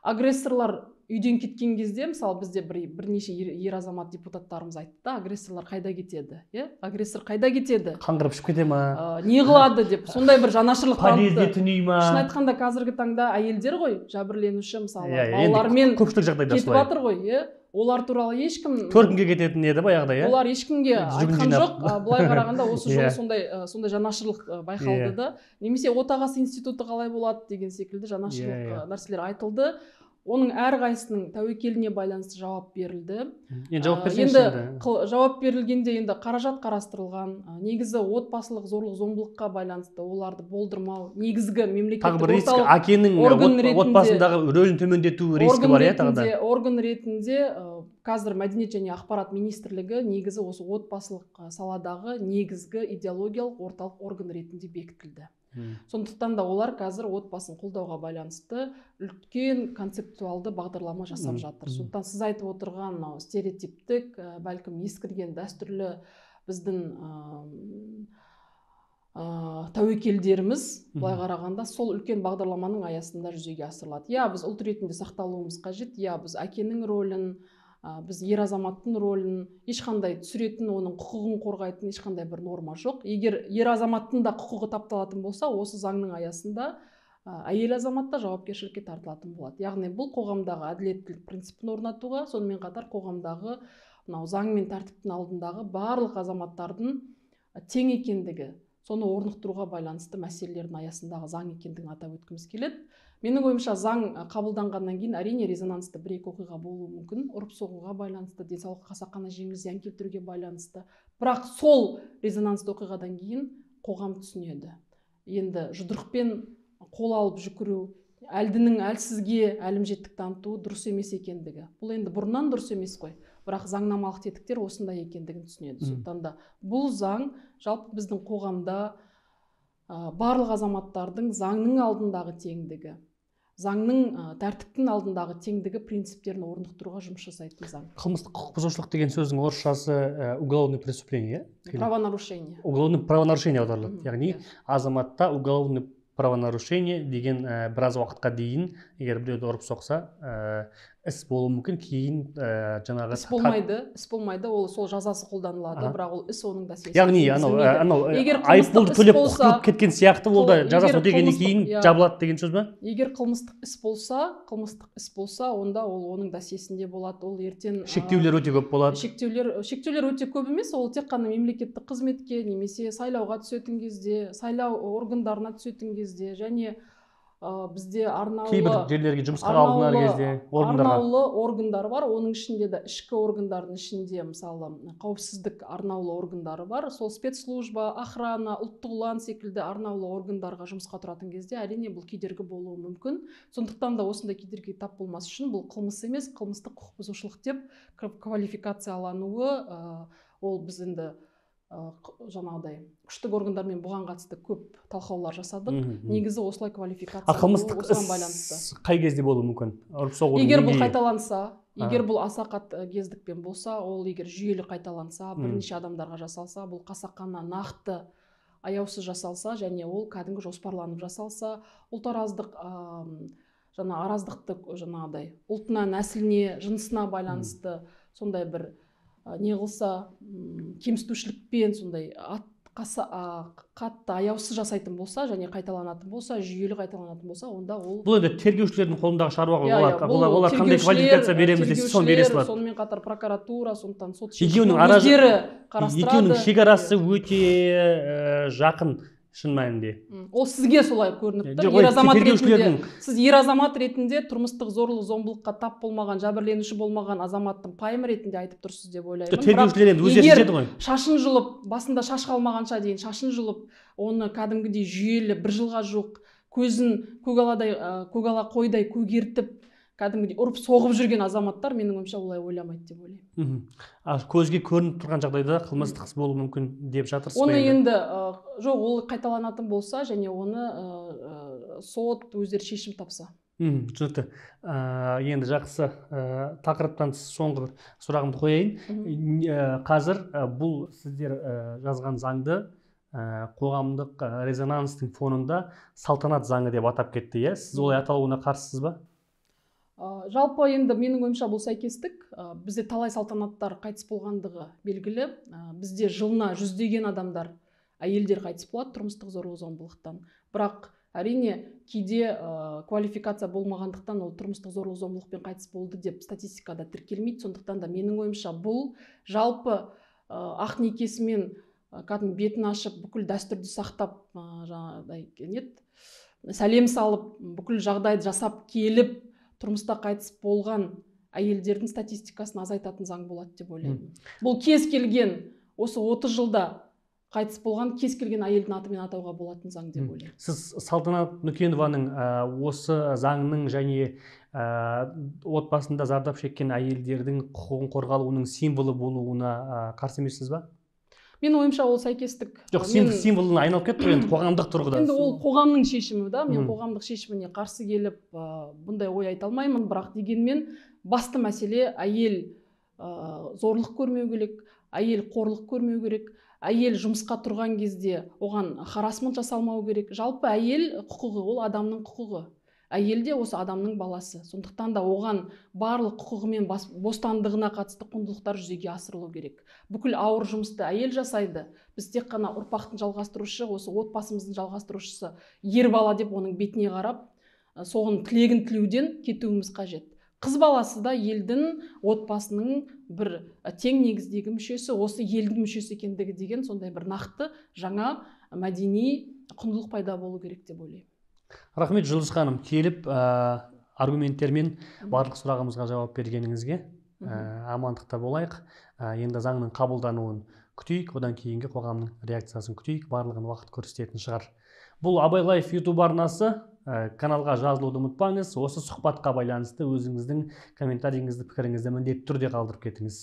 Speaker 2: Агрессорлар үйден кеткен кезде, мысалы бізде бір, бірнеше ер азамат депутаттарымыз айтты да, агрессорлар қайда кетеді? Е? Агрессор қайда кетеді?
Speaker 1: Қаңғырып ішіп кете ма?
Speaker 2: Не қылады деп, сондай бір жанашырлық танытты.
Speaker 1: Подъезде түней ма?
Speaker 2: Шын айтқанда қазіргі таңда әйелдер ғой, жәбірленуші, мысалы, балалармен кетіп жатыр ғой, олар туралы ешкім
Speaker 1: төркінге кететін еді баяғыда, иә?
Speaker 2: Олар ешкімге айтқан жоқ. Былай қарағанда осы жолы сондай сондай жанашырлық байқалды да. Немесе отағасы институты қалай болады деген секілді жанашырлық нәрселер айтылды. Оның әрқайсының тәуекеліне байланысты жауап берілді.
Speaker 1: Енді жауап берсеңізші
Speaker 2: енді. Жауап берілгенде енді қаражат қарастырылған. Негізі отбасылық зорлық зомбылыққа байланысты оларды болдырмау. Негізгі мемлекеттік орталық
Speaker 1: әкенің отбасындағы рөлін төмендету риски бар, иә, тағы да.
Speaker 2: Орган ретінде қазір Мәдениет және ақпарат министрлігі негізі осы отбасылық саладағы негізгі идеологиялық орталық орган ретінде бекітілді. Сондықтан да олар қазір отбасын қолдауға байланысты үлкен концептуалды бағдарлама жасап жатыр. Сондықтан сіз айтып отырған стереотиптік, бәлкім ескірген дәстүрлі біздің тәуекелдеріміз былай қарағанда сол үлкен бағдарламаның аясында жүзеге асырылады. Я біз ұлт ретінде сақталуымыз қажет, я біз әкенің рөлін, біз ер азаматтың рөлін ешқандай түсіретін, оның құқығын қорғайтын ешқандай бір норма жоқ. Егер ер азаматтың да құқығы тапталатын болса, осы заңның аясында әйел азамат та жауапкершілікке тартылатын болады. Яғни бұл қоғамдағы әділеттілік принципін орнатуға, сонымен қатар қоғамдағы мынау заң мен тәртіптің алдындағы барлық азаматтардың тең екендігі, соны орнықтыруға байланысты мәселелердің аясындағы заң екендігін атап өткіміз келеді. Менің ойымша заң қабылданғаннан кейін әрине резонансты бір-екі оқиға болуы мүмкін, ұрып-соғуға байланысты, денсаулыққа қасақана жеңіл зиян келтіруге байланысты. Бірақ сол резонансты оқиғадан кейін қоғам түсінеді. Енді жұдырықпен қол алып жүгіру, әлдінің әлсізге әлімжеттік танытуы дұрыс емес екендігі. Бұл енді бұрыннан дұрыс емес қой. Бірақ заңнамалық тетіктер осындай екендігін түсінеді. Сондықтан да бұл заң жалпы біздің қоғамда барлық азаматтардың заңның алдындағы теңдігі, заңның тәртіптің алдындағы теңдігі принциптерін орнықтыруға жұмыс жасайтын заң.
Speaker 1: Қылмыстық құқық бұзушылық деген сөздің орысшасы уголовное преступление,
Speaker 2: правонарушение.
Speaker 1: Уголовное правонарушение аударылады. Яғни азаматта уголовное правонарушение деген біраз уақытқа дейін, егер біреуді ұрып соқса, іс болуы мүмкін, кейін жаңағы
Speaker 2: іс болмайды, іс болмайды, ол сол жазасы қолданылады, бірақ ол іс оның да сесіп.
Speaker 1: Яғни анау айыппұлды төлеп құтылып кеткен сияқты ол да жазасын өтегеннен кейін жабылады деген сөз ба?
Speaker 2: Егер қылмыстық іс болса, қылмыстық іс болса, онда ол оның да сесінде болады. Ол ертең
Speaker 1: шектеулер өте көп болады.
Speaker 2: Шектеулер, шектеулер өте көп емес, ол тек қана мемлекеттік қызметке немесе сайлауға түсетін кезде, сайлау органдарына түсетін кезде және бізде арнаулы
Speaker 1: кейбір жерлерге жұмысқа алынар кезде
Speaker 2: арнаулы органдар бар. Оның ішінде де ішкі органдардың ішінде мысалы қауіпсіздік арнаулы органдары бар. Сол спецслужба, охрана, ұлттық ұлан секілді арнаулы органдарға жұмысқа тұратын кезде әрине бұл кедергі болуы мүмкін. Сондықтан да осындай кедергіге тап болмас үшін бұл қылмыс емес, қылмыстық құқық бұзушылық деп квалификациялануы, ол біз енді жаңағыдай күштік органдармен бұған қатысты көп талқылаулар жасадық. Негізі осылай квалификация
Speaker 1: қылмыстық іс қай кезде болуы мүмкін?
Speaker 2: Егер бұл қайталанса, егер бұл аса қатты кездікпен болса, ол егер жүйелі қайталанса, бірнеше адамдарға жасалса, бұл қасақана нақты аяусыз жасалса және ол кәдімгі жоспарланып жасалса, ұлтараздық жаңа араздықты жаңағыдай ұлтына, нәсіліне, жынысына байланысты сондай бір не қылса, кемсітушілікпен сондай қатты аяусыз жасайтын болса және қайталанатын болса, жүйелі қайталанатын болса, онда ол
Speaker 1: бұл енді тергеушілердің қолындағы шаруа ғой. Олар қандай квалификация береміз десе, соны бере салады.
Speaker 2: Сонымен қатар прокуратура, сондықтан сот
Speaker 1: өздері қарастырады. Екеуінің шекарасы өте жақын. Шын мәнінде.
Speaker 2: Ол сізге солай көрініп тұр. Ер азамат ретінде, сіз ер азамат ретінде тұрмыстық зорлық зомбылыққа тап болмаған, жәбірленуші болмаған азаматтың пайымы ретінде айтып тұрсыз деп ойлаймын.
Speaker 1: Тергеушілер енді өздері шешеді ғой.
Speaker 2: Шашын жұлып, басында шаш қалмағанша дейін шашын жұлып, оны кәдімгідей жүйелі бір жылға жоқ көзін көкаладай көкала қойдай көгертіп, кәдімгідей ұрып соғып жүрген азаматтар менің ойымша олай ойламайды деп ойлаймын.
Speaker 1: А көзге көрініп тұрған жағдайда қылмыстық іс болуы мүмкін деп жатырсыз ба?
Speaker 2: Оны енді жоқ, ол қайталанатын болса және оны сот өздері шешім тапса.
Speaker 1: Түсінікті. Енді жақсы, тақырыптан соңғы сұрағымды қояйын. Қазір бұл сіздер жазған заңды қоғамдық резонанстың фонында салтанат заңы деп атап кетті, иә? Сіз олай аталуына қарсысыз ба?
Speaker 2: Жалпы енді менің ойымша бұл сәйкестік. Бізде талай салтанаттар қайтыс болғандығы белгілі. Бізде жылына жүздеген адамдар, әйелдер қайтыс болады тұрмыстық зорлық-зомбылықтан. Бірақ әрине кейде квалификация болмағандықтан ол тұрмыстық зорлық-зомбылықпен қайтыс болды деп статистикада тіркелмейді. Сондықтан да менің ойымша бұл жалпы ақ некесімен кәдімгі бетін ашып, бүкіл дәстүрді сақтап, жаңағыдай сәлем салып, бүкіл жағдайды жасап келіп, тұрмыста қайтыс болған әйелдердің статистикасын азайтатын заң болады деп ойлаймын. Бұл кез келген, осы отыз жылда қайтыс болған кез келген әйелдің атымен атауға болатын заң деп ойлаймын.
Speaker 1: Сіз Салтанат Нүкенованың осы заңның және отбасында зардап шеккен әйелдердің құқығын қорғалуының символы болуына қарсы емессіз ба?
Speaker 2: Мен ойымша ол сәйкестік.
Speaker 1: Жоқ, символына айналып кетті енді қоғамдық тұрғыда.
Speaker 2: Енді ол қоғамның шешімі да, мен қоғамдық шешіміне қарсы келіп бұндай ой айта алмаймын, бірақ дегенмен басты мәселе әйел зорлық көрмеу керек, әйел қорлық көрмеу керек, әйел жұмысқа тұрған кезде оған харассмент жасалмау керек. Жалпы әйел құқығы ол адамның құқығы. Әйел де осы адамның баласы. Сондықтан да оған барлық құқығы мен бостандығына қатысты құндылықтар жүзеге асырылу керек. Бүкіл ауыр жұмысты әйел жасайды. Біз тек қана ұрпақтың жалғастырушысы, осы отбасымыздың жалғастырушысы ер бала деп оның бетіне қарап, соғын тілегін тілеуден кетуіміз қажет. Қыз баласы да елдің, отбасының бір тең негіздегі мүшесі, осы елдің мүшесі екендігі деген сондай бір нақты жаңа мәдени құндылық пайда болу керек деп ойлаймын.
Speaker 1: Рахмет Жұлдыз ханым, келіп аргументтермен барлық сұрағымызға жауап бергеніңізге. Амандықта болайық. Енді заңның қабылдануын күтейік, одан кейінгі қоғамның реакциясын күтейік, барлығын уақыт көрсететін шығар. Бұл Абай Лайф YouTube арнасы, каналға жазылуды ұмытпаңыз. Осы сұхбатқа байланысты өзіңіздің комментарийіңізді, пікіріңізді міндетті түрде қалдырып кетіңіз.